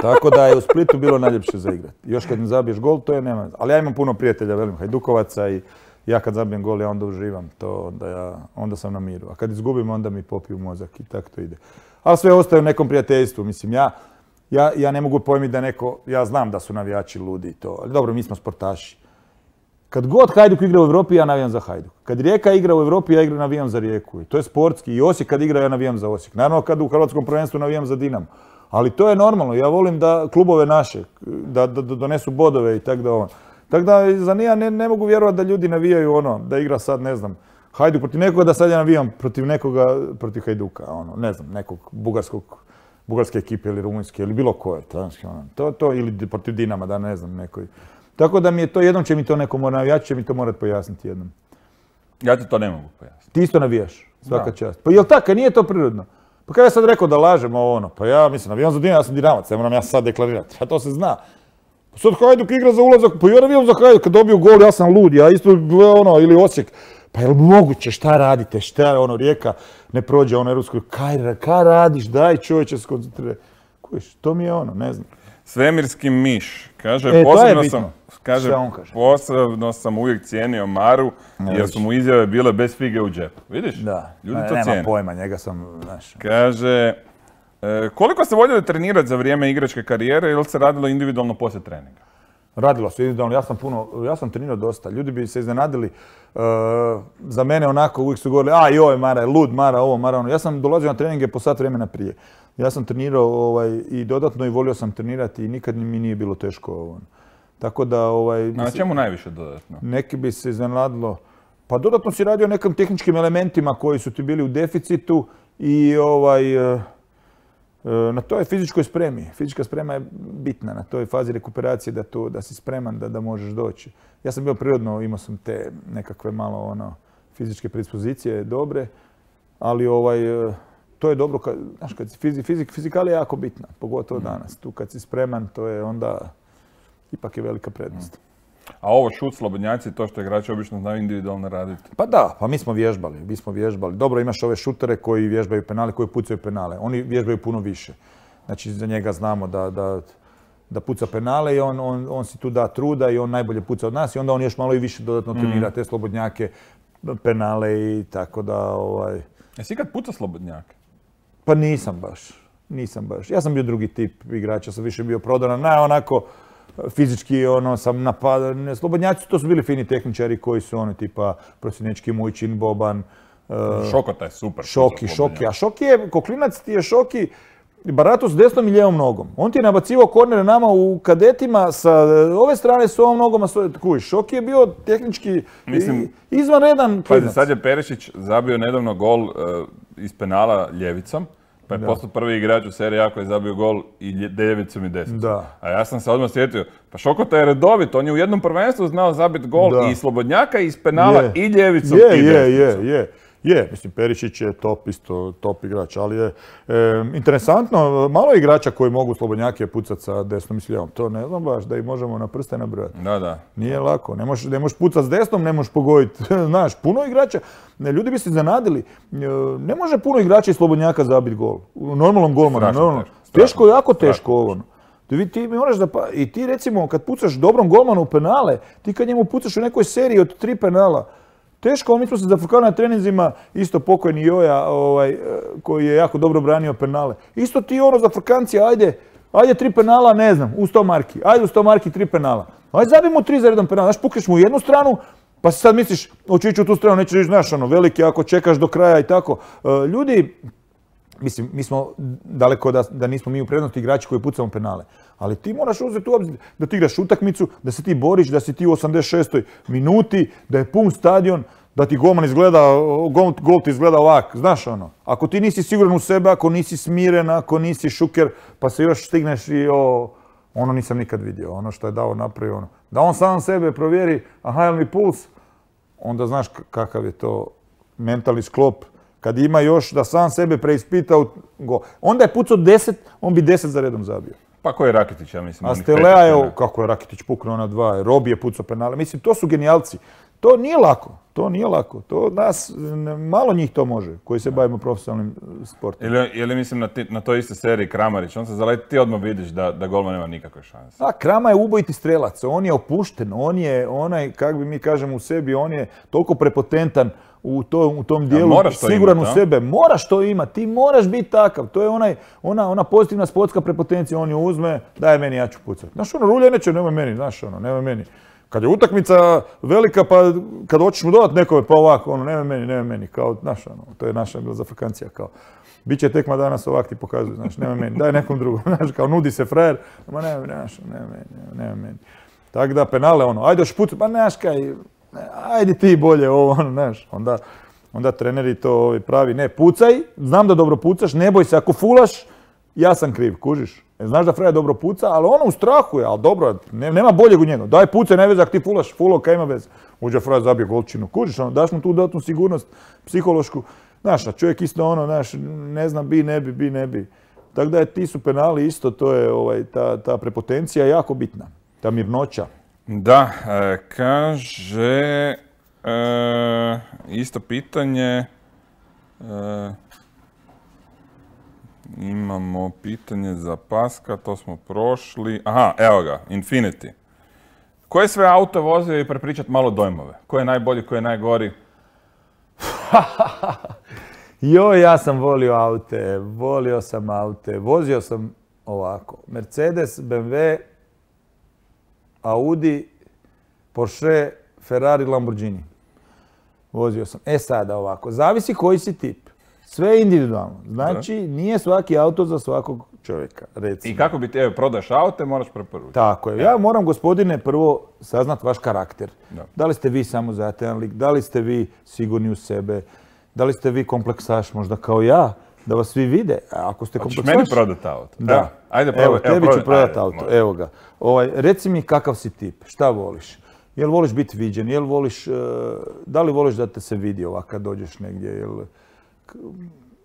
Tako da je u Splitu bilo najljepše za igrati. Još kad ne zabiješ gol, to je nema. Ali ja imam puno prijatelja, velim, Hajdukovaca i ja kad zabijem gol, ja onda uživam. To onda, ja, onda sam na miru. A kad izgubim, onda mi popiju mozak i tako to ide. Ali sve ostaje u nekom prijateljstvu. Mislim, ja, ja, ja ne mogu pojmiti da neko, ja znam da su navijači ludi i to, ali dobro, mi smo sportaši. Kad god Hajduk igra u Europi, ja navijam za Hajduk. Kad Rijeka igra u Europi, ja igra navijam za Rijeku. I to je sportski. I Osijek kad igra, ja navijam za Osijek. Naravno, kad u hrvatskom prvenstvu navijam za Dinamo. Ali to je normalno. Ja volim da klubove naše, da, da, da donesu bodove i tako da ono. Tako da za nija ne, ne mogu vjerovati da ljudi navijaju ono, da igra sad, ne znam, Hajduk protiv nekoga, da sad ja navijam protiv nekoga, protiv Hajduka, ono, ne znam, nekog bugarskog, bugarske ekipe ili rumunjske ili bilo koje. Ono. To, to, ili protiv Dinama, da ne znam, nekoj. Tako da mi je to, jednom će mi to neko mora, navijač će mi to morati pojasniti jednom. Ja ti to ne mogu pojasniti. Ti isto navijaš, svaka čast. Pa jel tako, nije to prirodno? Pa kada ja sad rekao da lažem ovo ono, pa ja mislim, navijam za Dinamo, ja sam Dinamac, ne moram ja sad deklarirati, a to se zna. Pa sad Hajduk igra za ulazak, pa ja navijam za Hajduk, kad dobiju gol, ja sam lud, ja isto ono, ili Osijek. Pa jel moguće, šta radite, šta je ono, Rijeka ne prođe ono europsko, kaj, kaj radiš, daj čovječe se koncentriraj. Kojiš, to mi je ono, ne znam. Svemirski miš. Kaže, E, to je posebno bitno. sam, kaže, Sve on kaže. posebno sam uvijek cijenio Maru, jer su mu izjave bile bez fige u džepu. Vidiš? Da, Ljudi ne, to nema cijene. pojma, njega sam, znaš. Kaže, e, koliko ste voljeli trenirati za vrijeme igračke karijere ili se radilo individualno poslije treninga? Radilo se individualno, ja sam puno, ja sam trenirao dosta. Ljudi bi se iznenadili, uh, za mene onako uvijek su govorili, a joj Mara je lud, Mara ovo, Mara ono. Ja sam dolazio na treninge po sat vremena prije. Ja sam trenirao ovaj, i dodatno i volio sam trenirati i nikad mi nije bilo teško. Ovaj. Tako da... Ovaj, A na čemu najviše dodatno? Neki bi se iznenadilo. Pa dodatno si radio nekim tehničkim elementima koji su ti bili u deficitu i ovaj... Uh, na toj fizičkoj spremi. Fizička sprema je bitna na toj fazi rekuperacije da, to, da si spreman da, da možeš doći. Ja sam bio prirodno, imao sam te nekakve malo ono, fizičke predispozicije dobre, ali ovaj, to je dobro, kad, znaš, kad si fizik, fizik, fizikala je jako bitna, pogotovo danas. Tu kad si spreman, to je onda ipak je velika prednost. A ovo šut, slobodnjaci, to što igrači obično znaju individualno raditi? Pa da, pa mi smo vježbali, mi smo vježbali. Dobro, imaš ove šutere koji vježbaju penale, koji pucaju penale. Oni vježbaju puno više. Znači, za njega znamo da, da, da puca penale i on, on, on si tu da truda i on najbolje puca od nas i onda on još malo i više dodatno trenira te slobodnjake, penale i tako da... Ovaj... Jesi ikad pucao slobodnjake? Pa nisam baš, nisam baš. Ja sam bio drugi tip igrača, sam više bio prodaran, ne onako... Fizički ono, sam napadao, slobodnjaci to su bili fini tehničari koji su ono tipa Prosjenečki, Mujčin, Boban. Uh, Šokota je super. Šoki, Šoki. A Šoki je, ko klinac ti je Šoki barato s desnom i lijevom nogom. On ti je nabacivao kornere nama u kadetima sa ove strane s ovom nogom, a svoje kujiš. Šoki je bio tehnički Mislim, izvanredan klinac. Pazi, sad je Perišić zabio nedavno gol uh, iz penala ljevicom. Pa je postao prvi igrač u seriji ako je zabio gol i ljevicom i desnicom. Da. A ja sam se odmah sjetio, pa Šokota je redovit, on je u jednom prvenstvu znao zabiti gol da. I iz slobodnjaka, i iz penala, je. I ljevicom je, i je, desnicom. Je, je, je. Mislim, Perišić je top isto, top igrač, ali je e, interesantno, malo je igrača koji mogu slobodnjake pucati sa desnom i s lijevom. To ne znam baš da ih možemo na prste nabrojati. Da, da. Nije lako, ne možeš, ne možeš pucati s desnom, ne možeš pogoditi. Znaš, puno igrača, ne, ljudi bi se zanadili, ne može puno igrača i slobodnjaka zabiti gol. U normalnom golmanu. Normalno. Teško, teško, jako teško ovo. Ti, ti moraš da pa, i ti recimo kad pucaš dobrom golmanu u penale, ti kad njemu pucaš u nekoj seriji od tri penala, teško, mi smo se zafrkali na treninzima, isto pokojni Joja, ovaj, koji je jako dobro branio penale. Isto ti ono za frkanci, ajde, ajde tri penala, ne znam, u sto marki, ajde u sto marki tri penala. Ajde zabijemo tri za jedan penal, znaš, pukneš mu u jednu stranu, pa si sad misliš, hoću ići u tu stranu, nećeš ići, znaš, ono, veliki ako čekaš do kraja i tako. Ljudi, mislim, mi smo daleko da, da nismo mi u prednosti igrači koji pucamo penale. Ali ti moraš uzeti u obzir da ti igraš utakmicu, da se ti boriš, da si ti u osamdeset šestoj minuti, da je pun stadion, da ti golman izgleda, gol, gol ti izgleda ovak, znaš ono. Ako ti nisi siguran u sebe, ako nisi smiren, ako nisi šuker, pa se još stigneš i o, ono nisam nikad vidio, ono što je dao napravio, ono. Da on sam sebe provjeri, aha, jel mi puls, onda znaš kakav je to mentalni sklop. Kad ima još da sam sebe preispita, go. Onda je pucao deset, on bi deset za redom zabio. Pa ko je Rakitić, ja mislim. A Stelea je, kako je Rakitić puknuo na dva, Robi je pucao penale. Mislim, to su genijalci. To nije lako, to nije lako. To nas, malo njih to može, koji se bavimo profesionalnim sportom. Ili, ili mislim na, ti, na toj iste seriji Kramarić, on se zaleti, ti odmah vidiš da, da golman nema nikakve šanse. A, Krama je ubojiti strelac, on je opušten, on je onaj, kako bi mi kažemo u sebi, on je toliko prepotentan u, to, u tom dijelu, ja, siguran imat, u sebe. Moraš to imati, ti moraš biti takav. To je onaj, ona, ona pozitivna sportska prepotencija, on ju uzme, daj meni, ja ću pucati. Znaš, ono, rulje neće, nemoj meni, znaš, ono, nemoj meni. Kad je utakmica velika, pa kad hoćeš mu dodati nekome, pa ovako, ono, nemoj meni, nemoj meni, kao, znaš, ono, to je naša bila zafrkancija, kao, bit će tekma danas ovak ti pokazuju, znaš, nemoj meni, daj nekom drugom, znaš, kao, nudi se frajer, ma nemoj, znaš, nemoj meni, nemoj meni. Tako da, penale, ono, ajde još pucu, pa znaš, kaj, ajde ti bolje ovo, ono, znaš, onda, onda treneri to pravi, ne, pucaj, znam da dobro pucaš, ne boj se, ako fulaš, ja sam kriv, kužiš. Znaš da Freja dobro puca, ali ono u strahu je, ali dobro, nema boljeg u njega. Daj pucaj, ne veze, ako ti fulaš, fulo, kaj ima veze. Uđe Freja, zabije golčinu, kužiš, ono, daš mu tu dodatnu sigurnost psihološku. Znaš, a čovjek isto ono, znaš, ne znam, bi, ne bi, bi, ne bi. Tako da je, ti su penali isto, to je ovaj, ta, ta prepotencija jako bitna, ta mirnoća. Da, e, kaže, e, isto pitanje, e, Imamo pitanje za Paska, to smo prošli. Aha, evo ga, Infinity. Koje sve auto vozio i prepričat malo dojmove? Ko je najbolji, ko je najgori? Joj, ja sam volio aute, volio sam aute, vozio sam ovako. Mercedes, B M W, Audi, Porsche, Ferrari, Lamborghini. Vozio sam. E sada ovako, zavisi koji si tip. Sve je individualno. Znači, nije svaki auto za svakog čovjeka, recimo. I kako bi ti, evo, prodaješ aute, moraš preporučiti. Tako je. Ja moram, gospodine, prvo saznat vaš karakter. Da. Da li ste vi samozatajan lik, da li ste vi sigurni u sebe, da li ste vi kompleksaš možda kao ja, da vas svi vide. A ako ste Hoćeš kompleksaš... meni prodati auto? Da. Evo, ajde, probaj. Evo, tebi ću prodati ajde, auto. može. Evo ga. Ovaj, reci mi kakav si tip, šta voliš? Jel voliš biti viđen, jel voliš, uh, da li voliš da te se vidi ovak kad dođeš negdje, jel, k-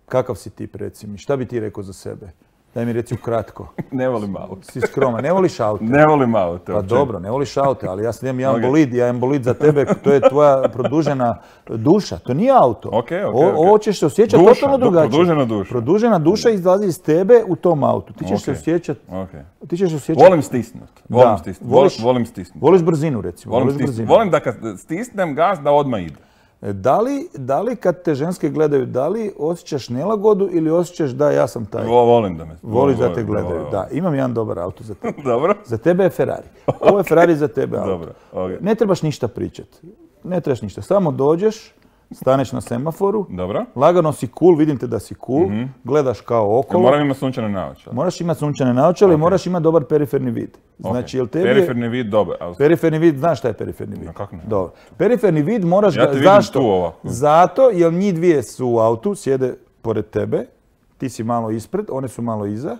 kakav si tip, reci mi, šta bi ti rekao za sebe? Daj mi reci ukratko. Ne volim auto. Si skroman, ne voliš auto? Ne volim auto. Pa uopće. dobro, ne voliš auto, ali ja sam imam jedan Ok. bolid, ja imam bolid za tebe, to je tvoja produžena duša, to nije auto. Ok, ok, O- ok. Ovo ćeš se osjećati Duša, totalno du- drugačije. produžena duša. Produžena duša izlazi iz tebe u tom autu. Ti ćeš se Ok. osjećati, Ok. ti ćeš se osjećati... Volim stisnut. Volim Da. stisnut. Voliš- Volim, volim stisnut. Voliš brzinu, recimo. Volim, Voliš stisnut. brzinu. Volim da kad stisnem gas da odmah ide. Da li, da li kad te ženske gledaju, da li osjećaš nelagodu ili osjećaš da ja sam taj? Vo- volim da me... Voliš da volim, te gledaju. volim. Da, imam jedan dobar auto za tebe. Dobro. Za tebe je Ferrari. Ovo je Ferrari za tebe auto. Dobro, ok. Ne trebaš ništa pričati. Ne trebaš ništa. Samo dođeš, staneš na semaforu, Dobro. lagano si cool, vidim te da si cool, gledaš kao Jel okolo. moram imati sunčane naočale? Moraš imati sunčane naočale i moraš imati dobar periferni vid. Znači, jel tebi je- Periferni vid, dobar. a- Periferni vid, znaš šta je periferni vid? Ma kako ne? Dobro. Periferni vid moraš Ja ga, te vidim zašto? tu ovako. Zato jer njih dvije su u autu, sjede pored tebe, ti si malo ispred, one su malo iza.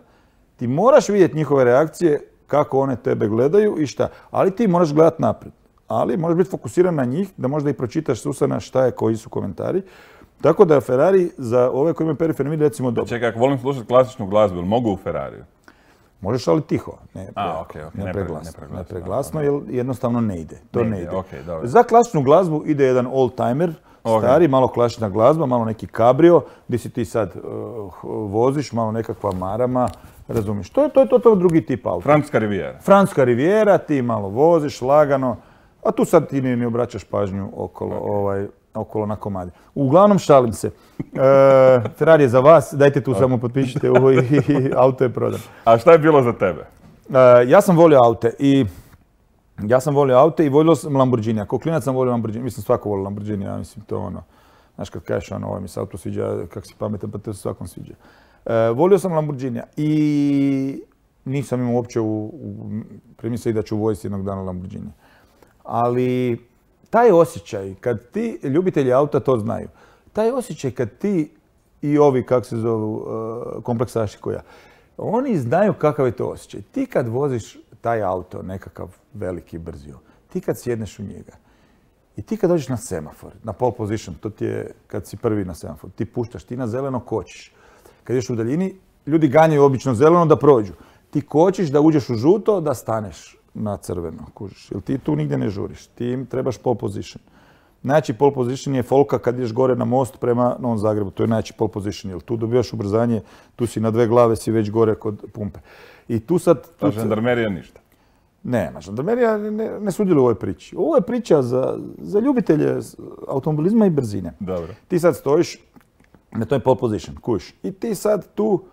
Ti moraš vidjeti njihove reakcije, kako one tebe gledaju i šta. Ali ti moraš gledati naprijed. Ali moraš biti fokusiran na njih, da možda i pročitaš s usana šta je, koji su komentari. Tako da je Ferrari za ove koji imaju periferni vid recimo dobro. Čekaj, ako volim slušati klasičnu glazbu, jel mogu u Ferrariju? Možeš ali tiho, ne, A, okej, okej, ne ne pre- preglasno, ne preglasno, ne preglasno, jer jednostavno ne ide. To Ne ne, ide, ide. okej, dobro. Za klasičnu glazbu ide jedan old-timer, Ok. stari, malo klasična glazba, malo neki kabrio, gdje si ti sad uh, voziš, malo nekakva marama, razumiješ. To je to je totalno drugi tip auta. Francuska rivijera. Francuska rivijera, ti malo voziš, lagano, a tu sad ti ni ne obraćaš pažnju okolo, ovaj, okolo na komadi. Uglavnom, šalim se. E, Ferrari je za vas, dajte tu samo potpišite ovo i, i auto je prodan. A šta je bilo za tebe? E, ja sam volio aute i ja sam volio aute i volio sam Lamborghini. Ako klinac sam volio Lamborghini, mislim svako volio Lamborghini, ja mislim to ono, znaš kad kažeš ono, ovaj mi se auto sviđa, kak si pametan, pa to se svakom sviđa. E, volio sam Lamborghinija i nisam imao uopće u, u primisli da ću voziti jednog dana Lamborghini. Ali taj osjećaj, kad ti, ljubitelji auta to znaju, taj osjećaj kad ti i ovi, kako se zovu, uh, kompleksaši koja, oni znaju kakav je to osjećaj. Ti kad voziš taj auto, nekakav veliki, brzio, ti kad sjedneš u njega i ti kad dođeš na semafor, na pole position, to ti je kad si prvi na semafor, ti puštaš, ti na zeleno kočiš. Kad ješ u daljini, ljudi ganjaju obično zeleno da prođu. Ti kočiš da uđeš u žuto, da staneš na crveno, kužiš. Jer ti tu nigdje ne žuriš, ti im trebaš pole position. Najjači pole position je folka kad ideš gore na most prema Novom Zagrebu, to je najjači pole position, jer tu dobivaš ubrzanje, tu si na dve glave, si već gore kod pumpe. I tu sad... Ta Tu, žandarmerija ništa. nema, žandarmerija ne, ne sudjeluje u ovoj priči. Ovo je priča za, za ljubitelje automobilizma i brzine. Dobro. Ti sad stojiš na toj pole position, kuš. I ti sad tu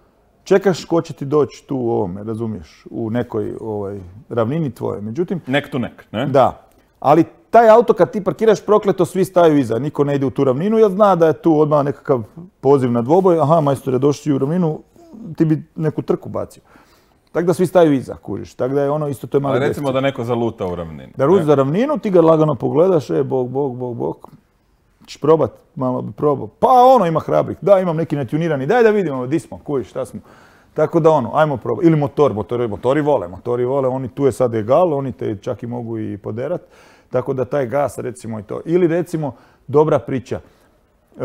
čekaš ko će ti doći tu u ovome, razumiješ, u nekoj ovaj, ravnini tvoje. Međutim, Nek tu nek, ne? da, ali taj auto kad ti parkiraš prokleto, svi staju iza, niko ne ide u tu ravninu jer zna da je tu odmah nekakav poziv na dvoboj, aha, majstore, došli u ravninu, ti bi neku trku bacio. Tako da svi staju iza, kužiš. Tako da je ono isto, to je malo Ali recimo gest. da neko zaluta u ravnini. Da ruč ne? za ravninu, ti ga lagano pogledaš, e, bog, bog, bog, bog. Češ probat, malo bi probao. Pa ono ima hrabrih, da imam neki natunirani, daj da vidimo di smo, kužiš, šta smo. Tako da ono, ajmo probati. Ili motor, motori, motori vole, motori vole, oni tu je sad egal, oni te čak i mogu i poderat. Tako da taj gas recimo i to. Ili recimo, dobra priča. E,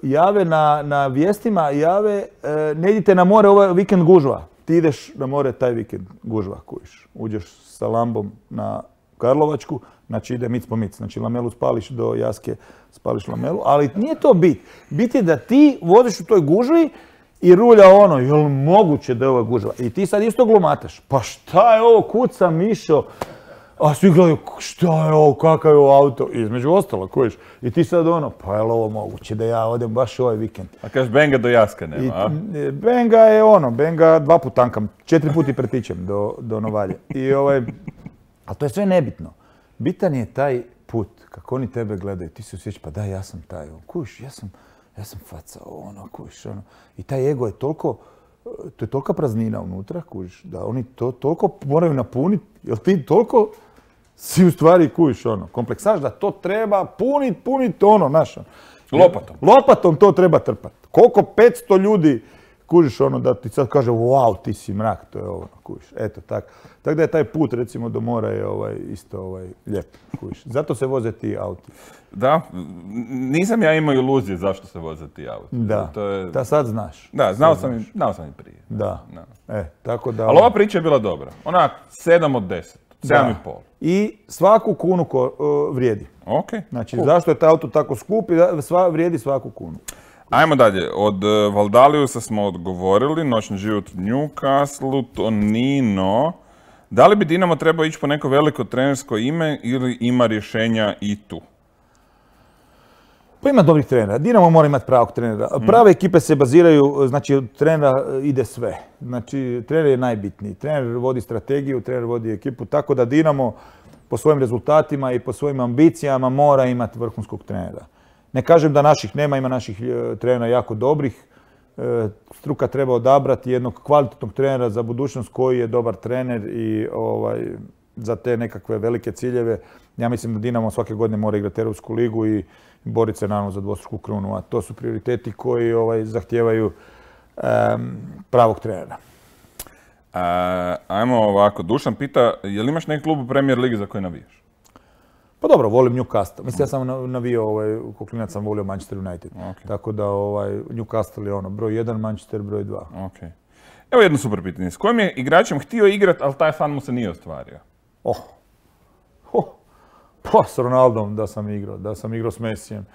jave na, na vijestima, jave, e, ne idite na more ovaj vikend gužva. Ti ideš na more taj vikend gužva, kužiš. Uđeš sa lambom na Karlovačku, znači ide mic po mic. Znači lamelu spališ do Jaske, spališ lamelu, ali nije to bit. Bit je da ti voziš u toj gužvi i rulja ono, jel moguće da je ovo gužva? I ti sad isto glumataš, pa šta je ovo, kuca mišo? A svi gledaju, šta je ovo, kakav je ovo auto? I između ostalo, kojiš. I ti sad ono, pa je li ovo moguće da ja odem baš ovaj vikend? A kažeš, Benga do Jaska nema, a? I, Benga je ono, Benga dva put tankam, četiri puti pretičem do, do Novalje. I ovaj, ali to je sve nebitno. Bitan je taj put, kako oni tebe gledaju, ti se osjećaš, pa da, ja sam taj, kojiš, ja sam, ja sam faca, ono, kojiš, ono. I taj ego je toliko, to je tolika praznina unutra, kužiš, da oni to toliko moraju napuniti, jer ti toliko si u stvari, kužiš, ono, kompleksaš da to treba punit, punit, ono, znaš. Lopatom. Lopatom to treba trpat. Koliko petsto ljudi, kužiš, ono, da ti sad kaže, wow, ti si mrak, to je ono, kužiš, eto, tako. Tako da je taj put, recimo, do mora je ovaj, isto ovaj, lijep, kužiš. Zato se voze ti auti. Da, nisam ja imao iluzije zašto se voze ti auti. Da, to je... da sad znaš. Da, znao sam, i, znao sam i prije. Da, da. E, tako da... Ali ova priča je bila dobra. Onak, sedam od deset. Sedam i pol. I svaku kunu ko, uh, vrijedi. Ok. Znači, cool. Zašto je taj auto tako skup i sva, vrijedi svaku kunu. Ajmo dalje. Od uh, Valdaliusa smo odgovorili. Noćni život u Newcastle, Tonino. Da li bi Dinamo trebao ići po neko veliko trenersko ime ili ima rješenja i tu? Pa ima dobrih trenera. Dinamo mora imati pravog trenera. Prave ekipe se baziraju, znači od trenera ide sve. Znači trener je najbitniji. Trener vodi strategiju, trener vodi ekipu, tako da Dinamo po svojim rezultatima i po svojim ambicijama mora imati vrhunskog trenera. Ne kažem da naših nema, ima naših trenera jako dobrih. Struka treba odabrati jednog kvalitetnog trenera za budućnost koji je dobar trener i ovaj, za te nekakve velike ciljeve. Ja mislim da Dinamo svake godine mora igrati Europsku ligu i boriti se naravno za dvostruku krunu, a to su prioriteti koji ovaj, zahtijevaju um, pravog trenera. A, ajmo ovako, Dušan pita, je li imaš neki klub u Premier Ligi za koji navijaš? Pa dobro, volim Newcastle. Mislim, ja sam navijao, ovaj, ko klinac sam volio Manchester United. Okay. Tako da ovaj, Newcastle je ono, broj jedan, Manchester broj dva. Okay. Evo jedno super pitanje. S kojim je igračem htio igrati, ali taj san mu se nije ostvario? Oh. Oh. Pa s Ronaldom da sam igrao, da sam igrao s Messijem,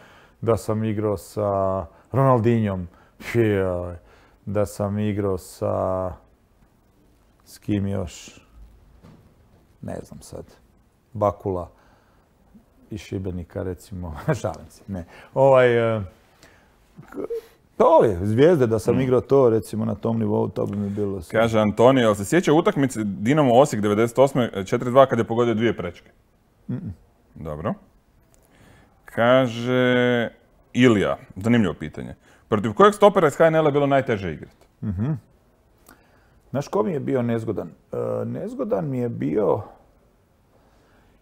da sam igrao sa Ronaldinjom, da sam igrao sa... S kim još? Ne znam sad. Bakula iz Šibenika, recimo. Šalim se, ne. Ovaj... Pa ove, Zvijezde, da sam igrao to, recimo, na tom nivou, to bi mi bilo sve. Kaže Antonio, jel se sjeća utakmice Dinamo Osijek devedeset osme četiri dva kad je pogodio dvije prečke? Mm-mm. Dobro. Kaže Ilija, zanimljivo pitanje. Protiv kojeg stopera iz H N L-a je bilo najteže igrati? Mm-hmm. Znaš ko mi je bio nezgodan? E, nezgodan mi je bio...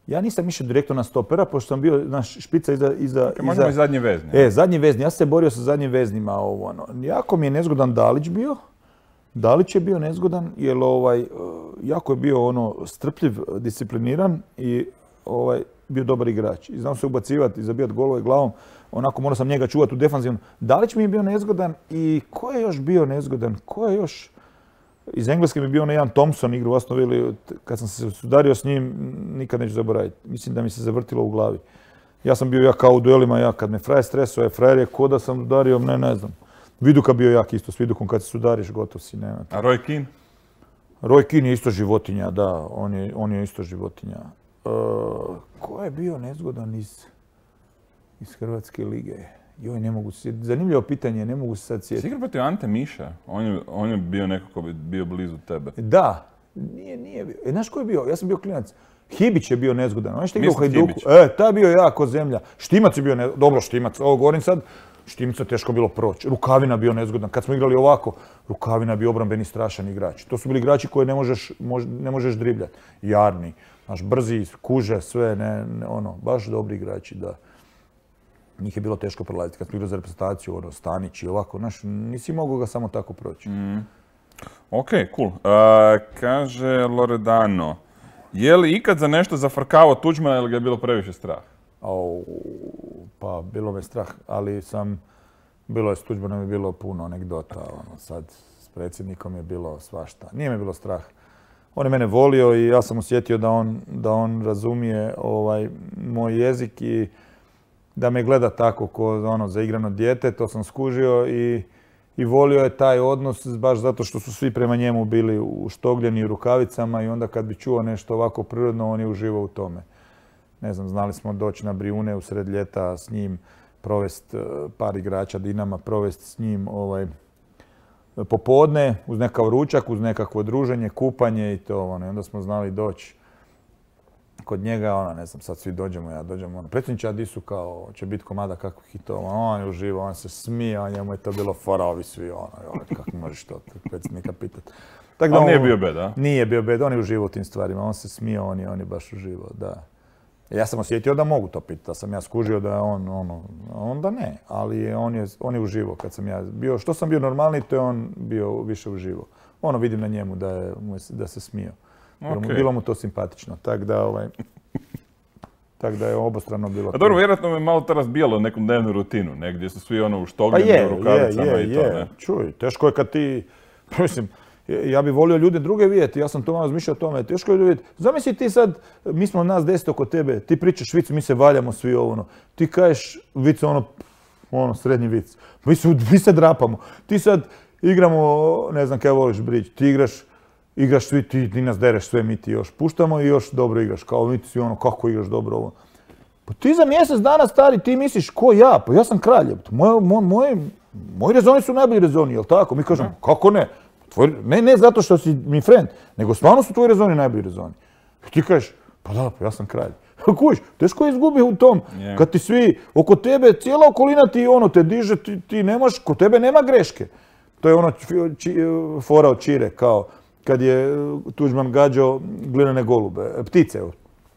Ja nisam išao direktno na stopera, pošto sam bio naš špica iza... iza, okay, možemo iza... i zadnji vezni. E, zadnji vezni. Ja sam se borio sa zadnjim veznima. Ovo, ono. Jako mi je nezgodan Dalić bio. Dalić je bio nezgodan, jer ovaj, jako je bio ono strpljiv, discipliniran i ovaj, bio dobar igrač. I znao se ubacivati i zabijati golove glavom. Onako morao sam njega čuvati u defanzivnom. Dalić mi je bio nezgodan i ko je još bio nezgodan? Ko je još... Iz Engleske mi je bio onaj Ian Thompson, igru u Aston Villa. Kad sam se sudario s njim, nikad neću zaboraviti. Mislim da mi se zavrtilo u glavi. Ja sam bio jak kao u duelima, ja kad me frajer stresao, je frajer je ko da sam udario, ne, ne znam. Viduka bio jak isto, s Vidukom kad se sudariš, gotov si, nema. A Roy Keane? Roy Keane je isto životinja, da, on je, on je isto životinja. Uh, ko je bio nezgodan iz, iz Hrvatske lige? Joj, ne mogu se, zanimljivo pitanje, ne mogu se sad sjetiti. Sigurno protiv Ante Miša, on je, on je bio neko ko bi bio blizu tebe. Da, nije, nije bio. E, znaš ko je bio? Ja sam bio klinac. Hibić je bio nezgodan, on je što igrao u Mislim Hajduku. Hibić. E, taj je bio jako zemlja. Štimac je bio nezgodan, dobro Štimac, ovo govorim sad, Štimca teško bilo proći. Rukavina bio nezgodan. Kad smo igrali ovako, Rukavina bio obrambeni strašan igrač. To su bili igrači koje ne možeš, mož, ne možeš dribljati. Jarni, znaš, brzi, kuže, sve, ne, ne, ono, baš dobri igrači, da. Njih je bilo teško prelaziti. Kad smo igrali za reprezentaciju, ono, Stanić i ovako, znaš, nisi mogao ga samo tako proći. Mm. Ok, cool. Uh, kaže Loredano, je li ikad za nešto zafrkavao Tuđmana ili ga je bilo previše strah? Au, pa bilo me strah, ali sam, bilo je s Tuđmanom je bilo puno anegdota, ono, sad s predsjednikom je bilo svašta. Nije me bilo strah. On je mene volio i ja sam osjetio da on, da on razumije ovaj, moj jezik i da me gleda tako ko ono, zaigrano dijete, to sam skužio i i volio je taj odnos baš zato što su svi prema njemu bili uštogljeni u rukavicama i onda kad bi čuo nešto ovako prirodno, on je uživao u tome. Ne znam, znali smo doći na Brijune u sred ljeta s njim, provest par igrača Dinama, provest s njim ovaj, popodne uz nekakav ručak, uz nekakvo druženje, kupanje i to. Ono. I onda smo znali doći kod njega, ona, ne znam, sad svi dođemo, ja dođemo, ono, predsjedniče, a di su kao, će biti komada kakvih hitova, on je uživao, on se smije, a njemu je to bilo fora, ovi svi, ono, joj, kako možeš to predsjednika pitati. Ali on, nije bio bed, a? Nije bio bed, on je uživao u tim stvarima, on se smije, on je, on je baš uživao, da. Ja sam osjetio da mogu to pitati, da sam ja skužio da je on, ono, onda ne, ali on je, on je uživao kad sam ja bio, što sam bio normalniji, to je on bio više uživao. Ono vidim na njemu da, je, da se smio. Okay. Bilo mu to simpatično, tako da, ovaj, tak da je obostrano bilo. A dobro, vjerojatno me malo to razbijalo neku dnevnu rutinu, ne, gdje su svi ono uštogljeni pa u rukavicama je, je, i to, je. Ne? Čuj, teško je kad ti, mislim, ja bih volio ljude druge vidjeti, ja sam to malo razmišljao o tome, teško je vidjeti. Zamisli ti sad, mi smo nas deset oko tebe, ti pričaš vic, mi se valjamo svi ovo, ti kažeš vic, ono, ono, srednji vic, mi, su, mi se drapamo, ti sad igramo, ne znam kaj voliš brić, ti igraš, igraš svi, ti, ti nas dereš sve, mi ti još puštamo i još dobro igraš, kao mi ti svi ono, kako igraš dobro ovo. Pa ti za mjesec dana stari, ti misliš, ko ja? Pa ja sam kralj, moji moj, moj, moj rezoni su najbolji rezoni, jel tako? Mi kažemo, kako ne? Tvoj, ne, ne zato što si mi friend, nego stvarno su tvoji rezoni najbolji rezoni. I ti kažeš, pa da, pa ja sam kralj. Kužiš, teško je izgubi u tom, yeah. Kad ti svi oko tebe, cijela okolina ti ono te diže, ti, ti nemaš, kod tebe nema greške. To je ono či, fora od Čire, kao kad je Tuđman gađao glinene golube, ptice,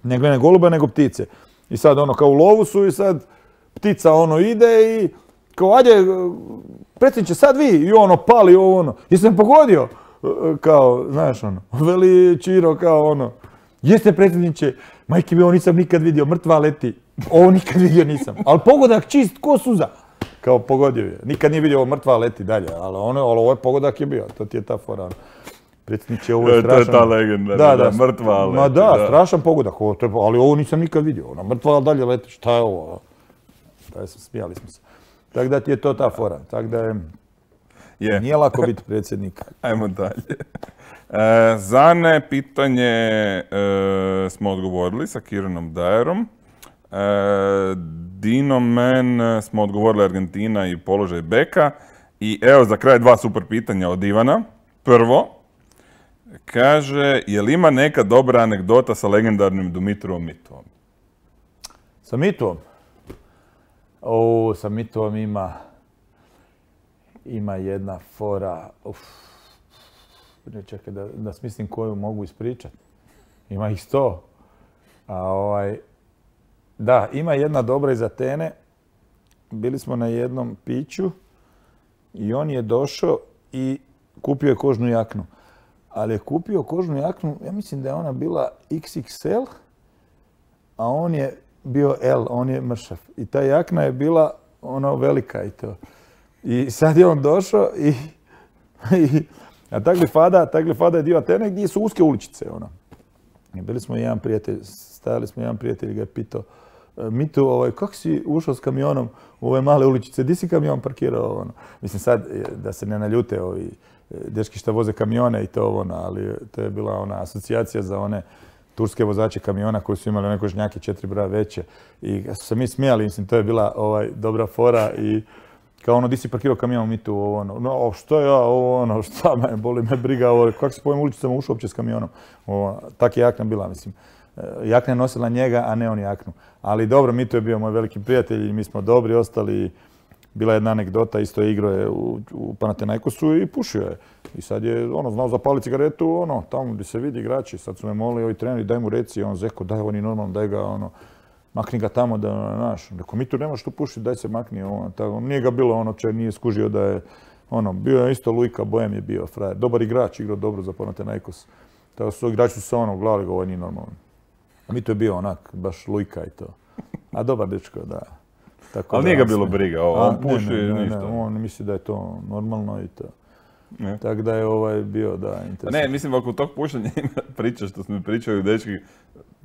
ne glinene golube, nego ptice. I sad ono, kao u lovu su i sad ptica ono ide i kao, ajde, predsjedniče, sad vi, i ono, pali ovo ono, jesam pogodio? Kao, znaš ono, veli Čiro, kao ono, jeste predsjedniče, majke mi, ovo nisam nikad vidio, mrtva leti, ovo nikad vidio nisam, ali pogodak čist ko suza. Kao pogodio je, nikad nije vidio ovo mrtva leti dalje, ali ono, ali ovo je pogodak je bio, to ti je ta fora. Predsjedniče, ovo je strašan... To je ta legenda, da, da, da, mrtva leti. Ma da, da. Strašan pogodak, ovo, ali ovo nisam nikad vidio, ona mrtva dalje leti, šta je ovo? Da, smijali smo se. Tako da ti je to ta fora, tako da je... Yeah. Nije lako biti predsjednik. Ajmo dalje. E, Zane, pitanje e, smo odgovorili sa Kiranom Dajerom. E, Dino Men smo odgovorili Argentina i položaj beka. I evo za kraj dva super pitanja od Ivana. Prvo, kaže, je li ima neka dobra anegdota sa legendarnim Dumitrovom Mitovom? Sa Mitovom? O, sa Mitovom ima... Ima jedna fora, uf, čekaj da, da smislim koju mogu ispričati. Ima ih sto. A ovaj, da, ima jedna dobra iz Atene. Bili smo na jednom piću i on je došao i kupio je kožnu jaknu. Ali je kupio kožnu jaknu, ja mislim da je ona bila iks iks el, a on je bio L, on je mršav. I ta jakna je bila ono velika i to. I sad je on došao i, i a Taglifada, Taglifada je dio Atene gdje su uske uličice. Ono. I bili smo jedan prijatelj, stajali smo jedan prijatelj i ga je pitao, Mitu, ovaj, kako si ušao s kamionom u ove male uličice, di si kamion parkirao? Ono? Mislim sad, da se ne naljute ovi dečki što voze kamione i to ono, ali to je bila ona asocijacija za one turske vozače kamiona koji su imali one kožnjake četiri broja veće. I su se mi smijali, mislim, to je bila ovaj, dobra fora i kao ono, di si parkirao kamion, mi tu, ovo ono, no, što ja, ovo ono, šta me, boli me briga, ovo, kako se po ovim uličicama ušao uopće s kamionom. Ovo, tak je jakna bila, mislim. Jakna je nosila njega, a ne on jaknu. Ali dobro, Mito je bio moj veliki prijatelj i mi smo dobri ostali. Bila je jedna anegdota, isto je igrao je u, u Panathinaikosu i pušio je. I sad je, ono, znao zapali cigaretu, ono, tamo gdje se vidi igrači. Sad su me molili ovi treneri, daj mu reci, on zeko, daj, on je normalno, daj ga, ono, makni ga tamo da, znaš, rekao, mi tu nemaš tu pušiti, daj se makni, ono, tako, nije ga bilo, ono, če nije skužio da je, ono, bio je isto Lujka, Bojem je bio frajer, dobar igrač, igrao dobro za Panathinaikos. Tako su igrači su se, ono, gledali ga, ovo nije normalno. A mi to je bio onak, baš Lujka i to. A dobar dečko, da. Tako ali da, nije ga bilo briga, ovo, on puši ne, ne, ništa. Ne, on misli da je to normalno i to. Tako da je ovaj bio, da, interesantno. Ne, mislim, oko tog pušenja ima priča što smo mi pričali, dečki,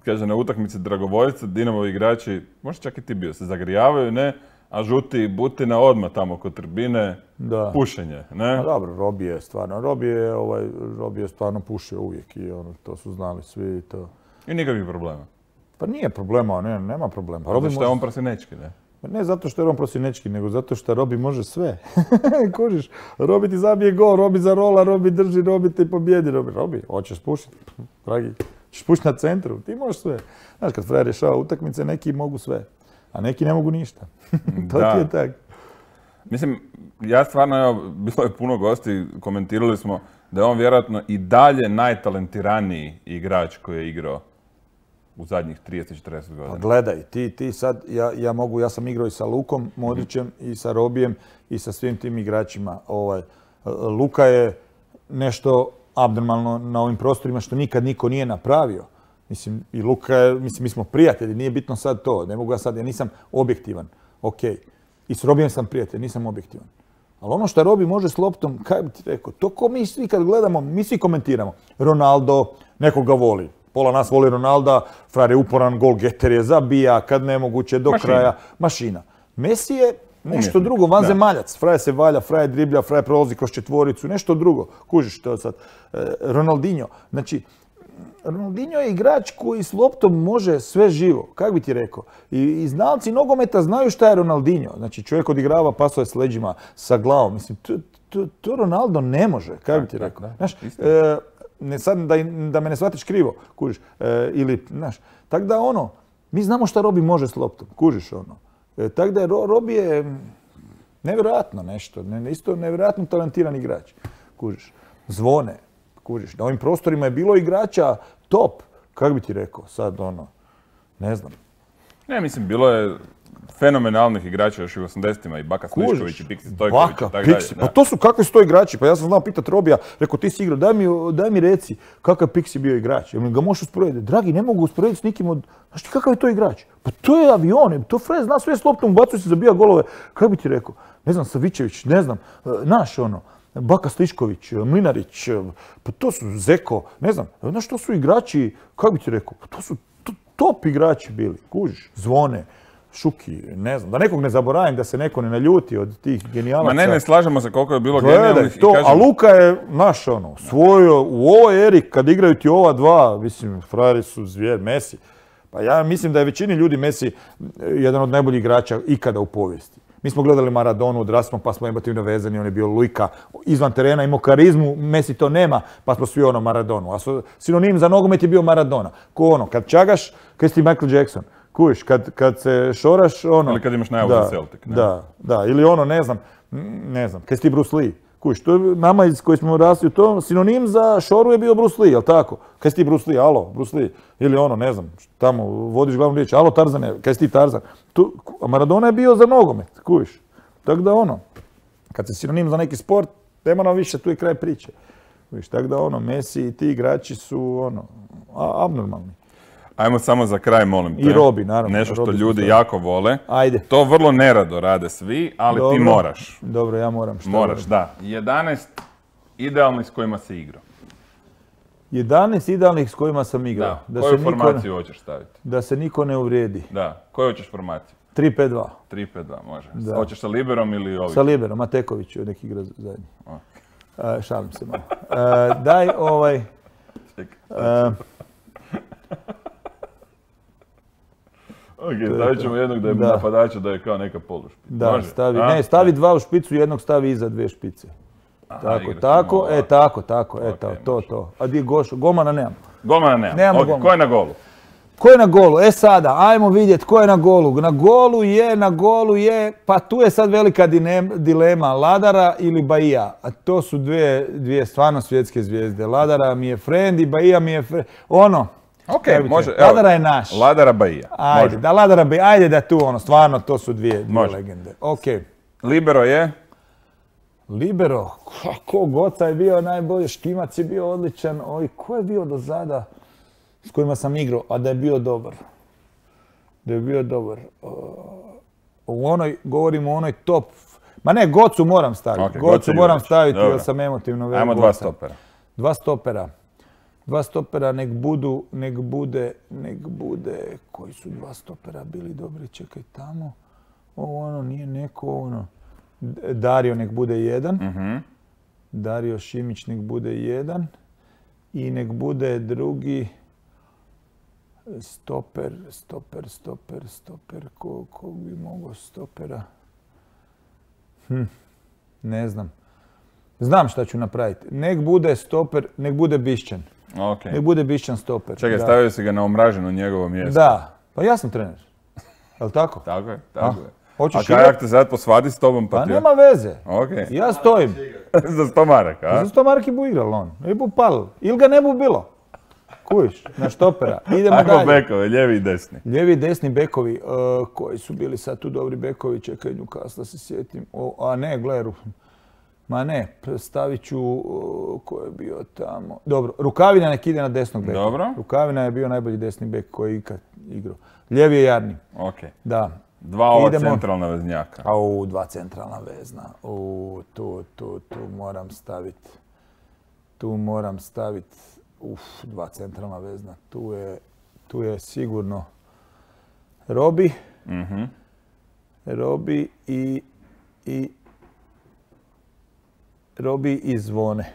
kaže na utakmici dragovoljca, Dinamovi igrači, možda čak i ti bio, se zagrijavaju, ne, a žuti Butina odmah tamo kod tribine, Da. pušenje, ne? A dobro, Robi je stvarno, Robi je, ovaj, Robi je stvarno pušio uvijek i ono, to su znali svi i to. I nikakvih problema. Pa nije problema, ne, nema problema. Zato što je on prasinečki, ne? Ne zato što je on prosinečki, nego zato što Robi može sve. Kužiš, Robi ti zabije gol, Robi zarola, Robi drži, Robi ti pobjedi. Robi, Robi, hoćeš pušiti, dragi, ćeš pušiti na centru, ti možeš sve. Znaš, kad frajer rješava utakmice, neki mogu sve, a neki ne mogu ništa. To Da. ti je tako. Mislim, ja stvarno, evo, bilo je puno gosti, komentirali smo da je on vjerojatno i dalje najtalentiraniji igrač koji je igrao u zadnjih trideset četrdeset Pa godina. gledaj, ti, ti sad, ja, ja mogu, ja sam igrao i sa Lukom Modrićem i sa Robijem i sa svim tim igračima. Ovaj, Luka je nešto abnormalno na ovim prostorima što nikad niko nije napravio. Mislim, i Luka je, mislim, mi smo prijatelji, nije bitno sad to, ne mogu ja sad, ja nisam objektivan, ok. I s Robijem sam prijatelj, nisam objektivan. Ali ono što Robi može s loptom, kaj bi ti rekao, to ko mi svi kad gledamo, mi svi komentiramo. Ronaldo, nekog ga voli. Pola nas voli Ronalda, frajer je uporan, gol getter je, zabija, kad nemoguće, do Mašina. kraja. Mašina. Messi je nešto Umjetnik, drugo, vanzemaljac. zemaljac. Frajer se valja, frajer driblja, frajer prolazi kroz četvoricu, nešto drugo. Kužiš to sad. E, Ronaldinho. Znači, Ronaldinho je igrač koji s loptom može sve živo, kako bi ti rekao. I, i znalci nogometa znaju šta je Ronaldinho. Znači čovjek odigrava pasove s leđima, sa glavom. Mislim, to, to, to Ronaldo ne može, kako bi ti Tak, rekao. da, Znaš, istina. e, ne, sad da, da me ne shvatiš krivo, kužiš. E, ili, znaš, tako da ono, mi znamo šta Robi može s loptom, kužiš ono. E, tako da je Ro, Robi je nevjerojatno nešto, ne, isto nevjerojatno talentiran igrač, kužiš. Zvone, kužiš. Na ovim prostorima je bilo igrača top, kako bi ti rekao, sad ono, ne znam. Ne, mislim, bilo je fenomenalnih igrača još i u osamdesetima i Baka Slišković Kužiš, i Piksi Stojković Baka, i tako dalje. Piksi, da. pa to su kakvi su to igrači, pa ja sam znao pitat Robija, rekao ti si igrao, daj mi, daj mi reci kakav Piksi bio igrač, jel ga možeš usporediti? Dragi, ne mogu usporediti s nikim od, znaš ti kakav je to igrač? Pa to je avion, to Fred zna sve s loptom, ubacuje se, zabija golove, kako bi ti rekao? Ne znam, Savičević, ne znam, naš ono, Baka Slišković, Mlinarić, pa to su Zeko, ne znam, znaš to su igrači, kako bi ti rekao, pa to su to, top igrači bili, kužiš, Zvone, Šuki, ne znam, da nekog ne zaboravim, da se neko ne naljuti od tih genijalaca. Ma ne, ne slažemo se koliko je bilo Gledaj, genijalnih i to, kažem, a Luka je, naš ono, svojio u ovoj eri, kad igraju ti ova dva, mislim, frajeri su zvijer, Messi. Pa ja mislim da je većini ljudi Messi jedan od najboljih igrača ikada u povijesti. Mi smo gledali Maradonu, odrasli smo, pa smo emotivno vezani, on je bio Luka, izvan terena, imao karizmu, Messi to nema, pa smo svi ono Maradonu. A sinonim za nogomet je bio Maradona. Ko ono, kad čagaš, kad si ti Michael Jackson. Kuviš, kad, kad se šoraš, ono... Ili kad imaš najavu da, za Celtic, ne? Da, da, ili ono, ne znam, ne znam, kad si ti Bruce Lee. Kuviš, to je nama iz koji smo rasli u tom, sinonim za šoru je bio Bruce Lee, jel tako? Kad si ti Bruce Lee, alo, Bruce Lee. Ili ono, ne znam, tamo vodiš glavnu riječ, alo Tarzane, kad si ti Tarzan. Tu, a Maradona je bio za nogomet, kuviš. Tako da ono, kad se sinonim za neki sport, nema nam više, tu je kraj priče. Kuviš, tako da ono, Messi i ti igrači su ono, a, abnormalni. Ajmo samo za kraj, molim te. I Robi, naravno. Nešto što Robi ljudi su jako vole. Ajde. To vrlo nerado rade svi, ali Dobro. ti moraš. Dobro, ja moram. Šta Moraš, moram? da. jedanaest idealnih s kojima si igrao. jedanaest idealnih s kojima sam igrao. Da. Koju se niko, formaciju hoćeš staviti? da se niko ne uvrijedi. Da. Koju hoćeš formaciju? tri pet dva. tri pet dva, može. Da. Hoćeš sa liberom ili ovim? Sa Liberom, Mateković je neki igra zajedno. O. E, šalim se malo. E, daj ovaj... Čekaj. e, Ok, stavit ćemo jednog da je Da. napadača da je kao neka polušpica. da, Može? stavi, A? ne, stavi dva u špicu, jednog stavi iza dve špice. Aha, Tako, igraš tako, malo e, ovako. tako, tako, Ok, eto, to, može. to. A di je Gošo? Golmana nemam. Golmana nema. Nemamo Ok, golmana. ko je na golu? Ko je na golu? E sada, ajmo vidjeti ko je na golu. Na golu je, na golu je, pa tu je sad velika dinem- dilema, Ladara ili Bahija. A to su dvije, dvije stvarno svjetske zvijezde. Ladara mi je friend i Bahija mi je friend. Ono, Ok, kaj bi ti može. rekao, evo, Ladara je naš. Ladara Bahija. Ajde, Može. da Ladara Bahija, ajde da tu ono, stvarno to su dvije, dvije Može. legende. Ok. Libero je? Libero, kako Goca je bio najbolji, Štimac je bio odličan, oj, ko je bio do zada s kojima sam igrao, a da je bio dobar? Da je bio dobar. U onoj, govorimo o onoj top, ma ne, Gocu moram staviti, Ok, Gocu Goca moram Jurić. staviti Dobro. jer sam emotivno vezan. Ajmo dva stopera. Dva stopera. Dva stopera, nek budu, nek bude, nek bude, koji su dva stopera bili dobri, čekaj tamo. ovo ono, nije neko ono. Dario nek bude jedan. Mhm. Dario Šimić nek bude jedan. I nek bude drugi stoper, stoper, stoper, stoper. Ko, ko bi mogao stopera? Hm, ne znam. Znam šta ću napraviti. Nek bude stoper, nek bude Bišćan. Ok. Nek bude Bišćan stoper. Čekaj, da. stavio si ga na omraženo njegovo mjesto. Da. Pa ja sam trener. Jel' tako? Tako je, tako A? je. Hoćeš A kaj igrat? ak te sad posvadi s tobom pa Pa ti... nema veze. Ok. Ja stojim. Za sto maraka, a? Za sto marki bu igral on. Ne bu palil. Ili ga ne bu bilo. Kujiš, na štopera. Idemo Ajmo dalje. bekove, lijevi i desni. Lijevi i desni bekovi, uh, koji su bili sad tu dobri bekovi, čekaj Newcastle se sjetim. O, a ne, gle, Ru- ma ne, stavit ću, uh, ko je bio tamo. Dobro, Rukavina nek ide na desnog beka. Dobro. Rukavina je bio najbolji desni bek koji je ikad igrao. Lijevi je Jarni, Ok. da. Dva ova Idemo. centralna veznjaka. Au, dva centralna vezna. U, tu, tu, tu moram staviti. Tu moram staviti. Uf, dva centralna vezna. Tu je, tu je sigurno Robi. Mhm. Robi i, i Robi i Zvone.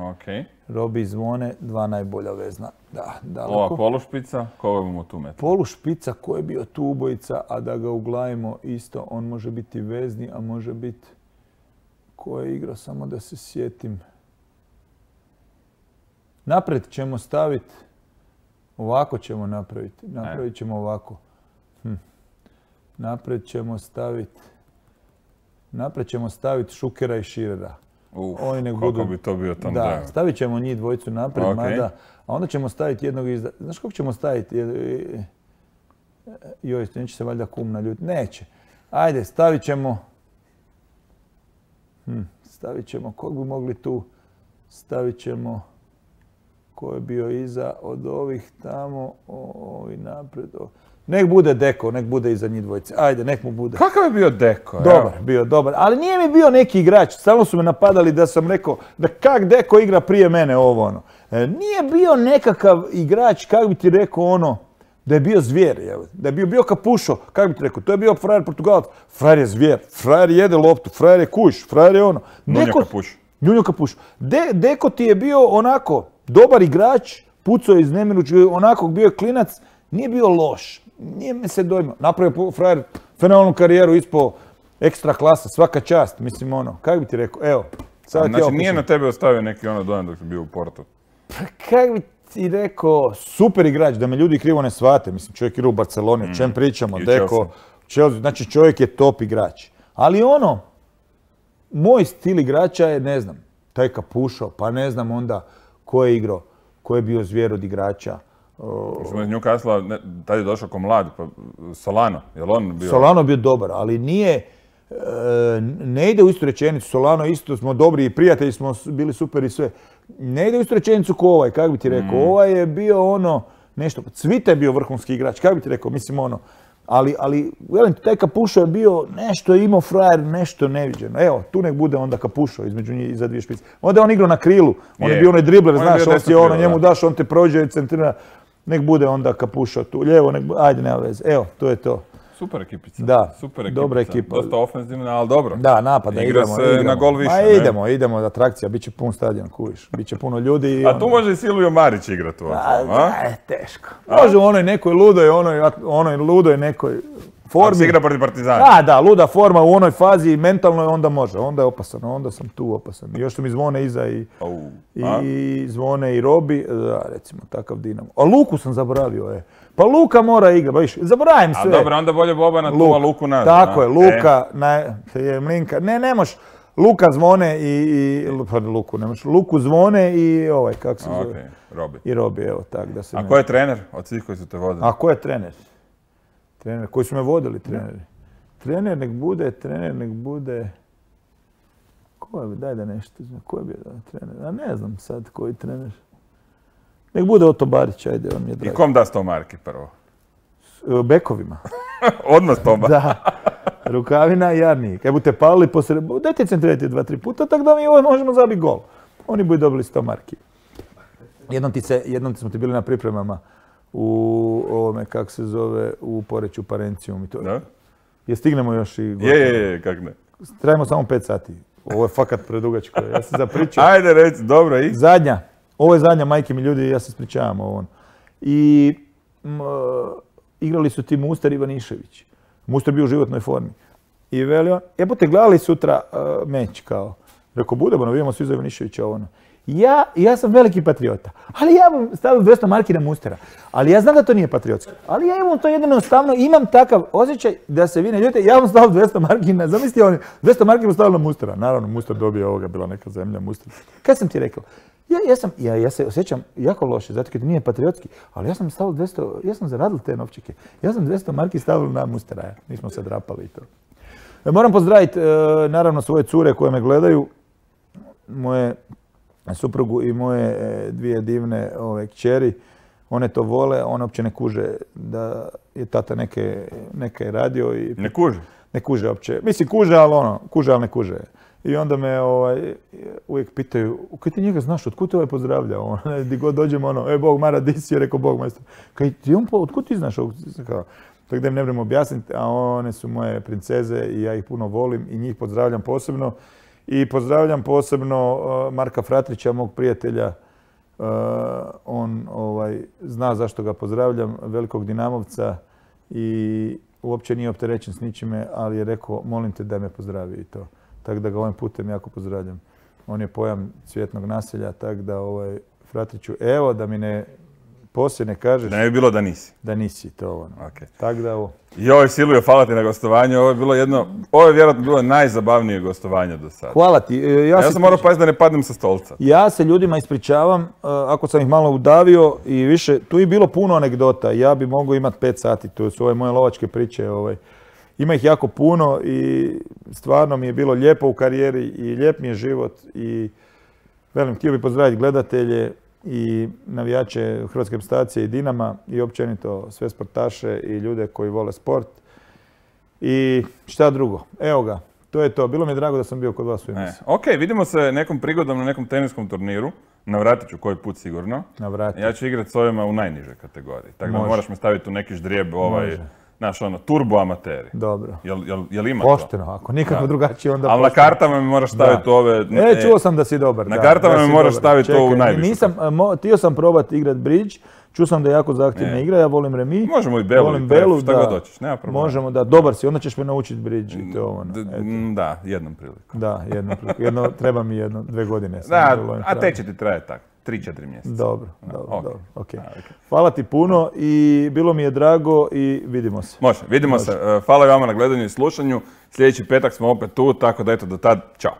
Ok. Robi i Zvone, dva najbolja vezna. Da, daleko. Ova polušpica, koga imamo tu metra? Polu špica ko je bio tu ubojica, a da ga uglavimo isto, on može biti vezni, a može biti ko je igrao, samo da se sjetim. Naprijed ćemo staviti, ovako ćemo napraviti, napravit ćemo ovako. Hm. Naprijed ćemo staviti, naprijed ćemo staviti Šukera i Širera. Uf, Oni nek koliko budu- bi to bio tam Da, drago. stavit ćemo njih dvojicu naprijed, Ok. mada, a onda ćemo staviti jednog izda... Znaš kako ćemo staviti? Je- je- Joj, neće se valjda kum naljutiti. Neće. Ajde, stavit ćemo... Hm, stavit ćemo, kog bi mogli tu? Stavit ćemo... Ko je bio iza od ovih tamo, o- ovi naprijed. o- Nek bude Deko, nek bude iza njih dvojice. Ajde, nek mu bude. Kakav je bio Deko? evo? Dobar, bio dobar. Ali nije mi bio neki igrač. Stalno su me napadali da sam rekao da kak Deko igra prije mene ovo ono. E, nije bio nekakav igrač, kak bi ti rekao ono, da je bio zvijer. Evo. Da je bio, bio Kapušo, kak bi ti rekao, to je bio frajer Portugalac. Frajer je zvijer, frajer jede loptu, frajer je kuš, frajer je ono. Nunja Neko- Kapuš. Njunjo Kapuš. De, Deko ti je bio onako dobar igrač, pucao je iz nemirući, onako bio je klinac, nije bio loš. Nije me se dojmao. Napravio po- frajer fenomenalnu karijeru, ispao ekstra klasa, svaka čast. Mislim ono, kako bi ti rekao, evo. Sad ti ja Znači nije opišem. na tebe ostavio neki ono dojam dok si bio u Portu. Kako bi ti rekao, super igrač, da me ljudi krivo ne shvate. Mislim, čovjek igra u Barceloni, o čem pričamo, I u Deko, Chelsea, znači čovjek je top igrač. Ali ono, moj stil igrača je, ne znam, taj Kapušo, pa ne znam onda ko je igrao, ko je bio zvijer od igrača. O, Smo iz Newcastle, ne, tad je došao ko mlad, pa Solano, je li on bio? Solano bio dobar, ali nije, e, ne ide u istu rečenicu. Solano isto smo dobri i prijatelji smo s- bili super i sve. Ne ide u istu rečenicu ko ovaj, kako bi ti rekao. Ovaj je bio ono, nešto, Cvita je bio vrhunski igrač, kako bi ti rekao, mislim ono. Ali, ali velim ti, taj Kapušo je bio, nešto je imao frajer, nešto neviđeno. Evo, tu nek bude onda Kapušo između njih iza dvije špice. Onda je on igrao na krilu, on je Je. bio onaj dribler, On je znaš, bio on si desno ono, krilo, njemu da. daš, on te prođe, centrira. Nek bude onda Kapušo tu, lijevo, nek bude, ajde, nema veze. Evo, to je to. Super ekipica. Da, Super ekipica. dobra ekipa. Dosta ofenzivna, ali dobro. Da, napada, Igra idemo, se idemo. na gol više, Ma ne? idemo, idemo, atrakcija, bit će pun stadion, kuviš. Biće puno ljudi i A tu može i Silvio Marić igrati u A, osnovu, a? ne, teško. Može u onoj nekoj ludoj, onoj, onoj ludoj nekoj Ako se formi. igra protiv Partizana. Da, da, luda forma u onoj fazi mentalnoj, onda može, onda je opasan, onda sam tu opasan. I još su mi zvone iza i, Au, a? i zvone i Robi, da, recimo, takav Dinamo. A Luku sam zaboravio, je. Pa Luka mora igrati, baš, zaboravim A sve. dobro, onda bolje Bobana tu, a Luku nazad. Tako a? je, Luka, na, je Mlinka, ne, ne moš, Luka zvone i, i pa Luku, ne moš, Luku zvone i ovaj, kako se E, zove, okej, Robi. i Robi, evo, tak da se A ne- ko je trener od svih koji su te vodili? A ko je trener? Trener, koji su me vodili treneri? Trener nek bude, trener nek bude... Ko je, daj da nešto, znam, ko je bio trener? A ne znam sad koji trener. Nek bude Oto Barić, ajde, on mi je I drag. kom da sto marki prvo? S- Bekovima. Odmah sto marki. Da. Rukavina i Jarni. Kaj budete palili posred... Dajte centrirati dva, tri puta, tako da mi ovo možemo zabiti gol. Oni budu dobili sto marki. Jednom ti se, jednom smo ti bili na pripremama u ovome, kako se zove, u Poreču Parencijum. I to, Da? Je stignemo još i gotovo. Je, je, je, kak ne. Trajimo samo pet sati. Ovo je fakat predugačko. Ja sam zapričao. Ajde reci, dobro i? Zadnja. Ovo je zadnja, majke mi ljudi, ja se ispričavam ovo. I m, igrali su ti Muster i Ivanišević. Muster bio u životnoj formi. I veli on, jebote, gledali sutra uh, meč kao. Rekao, budemo, vidimo svi za Ivaniševića ono. Ja, ja sam veliki patriota, ali ja vam stavio dvjesto marki na Mustera. Ali ja znam da to nije patriotski. Ali ja imam to jednostavno, imam takav osjećaj da se vi ne ljutite, ja vam stavio dvjesto marki na, zamislite oni, dvjesto marki mu stavio na Mustera. Naravno, Muster dobio ovoga, bila neka zemlja, Muster. Kad sam ti rekao? Ja, ja, sam, ja, ja se osjećam jako loše, zato jer nije patriotski, ali ja sam stavio dvjesto, ja sam zaradil te novčike. Ja sam dvjesto marki stavio na Mustera, ja. Nismo se drapali i to. Moram pozdraviti, naravno, svoje cure koje me gledaju, moje suprugu i moje dvije divne ove, kćeri. One to vole, one uopće ne kuže da je tata neke, neke radio. I ne kuže? Ne kuže uopće. Mislim, kuže, ali ono, kuže, ali ne kuže. I onda me ovaj, uvijek pitaju, kaj ti njega znaš, otkud te ovaj pozdravlja? Ono, di god dođemo, ono, e, Bog, Mara, di si? Je rekao, Bog, majstor. Kaj ti on, otkud ti znaš? Kao, tako da im ne vrem objasniti, a one su moje princeze i ja ih puno volim i njih pozdravljam posebno. I pozdravljam posebno uh, Marka Fratrića, mog prijatelja. Uh, on ovaj, zna zašto ga pozdravljam, velikog Dinamovca i uopće nije opterećen s ničime, ali je rekao, molim te da me pozdravi i to. Tako da ga ovim putem jako pozdravljam. On je pojam cvjetnog naselja, tako da ovaj, Fratriću, evo da mi ne poslije ne kažeš... Da ne bi bilo da nisi. Da nisi, to ono. Okay. Tako da ovo... Joj, Silvio, hvala ti na gostovanju. Ovo je bilo jedno, ovo je vjerojatno bilo najzabavnije gostovanje do sada. Hvala ti. Ja, ja sam morao paziti da ne padnem sa stolca. Ja se ljudima ispričavam, ako sam ih malo udavio i više, tu je bilo puno anegdota. Ja bi mogao imati pet sati, to su ove moje lovačke priče. Ovaj. Ima ih jako puno i stvarno mi je bilo lijepo u karijeri i lijep mi je život. I velim, htio bih pozdraviti gledatelje i navijače Hrvatske reprezentacije i Dinama i općenito sve sportaše i ljude koji vole sport. I šta drugo? Evo ga, to je to. Bilo mi je drago da sam bio kod vas u emisiji. Ok, vidimo se nekom prigodom na nekom teniskom turniru. Navratit ću koji put sigurno. Navrati. Ja ću igrati s ovima u najnižoj kategoriji. Tako da moraš me staviti u neki ždrijeb ovaj... Može. Znaš, ono, turbo amateri. Dobro. Jel, jel, jel ima pošteno, to? ako nikako drugačije onda ali pošteno. Ali na kartama mi moraš staviti da. ove... E, čuo sam da si dobar. Na da, kartama da mi moraš dobar. staviti Čekaj, ovu najvišu. Nisam, mo, htio sam probati igrat bridge, čuo sam da je jako zahtjevna igra, ja volim remi. Možemo i belu, volim i pref, belu, šta da. god hoćeš, nema problema. Možemo, da, dobar si, onda ćeš me naučiti bridge i to ono. Da, jednom prilikom. Da, jednom prilikom. Jedno, treba mi jedno, dve godine. Da, a te će ti trajati tako. tri četiri mjeseca. Dobro, dobro, okay. dobro. Okay. A, okay. Hvala ti puno i bilo mi je drago i vidimo se. Može, vidimo Može. se. Hvala vama na gledanju i slušanju. Sljedeći petak smo opet tu, tako da eto do tad, čao.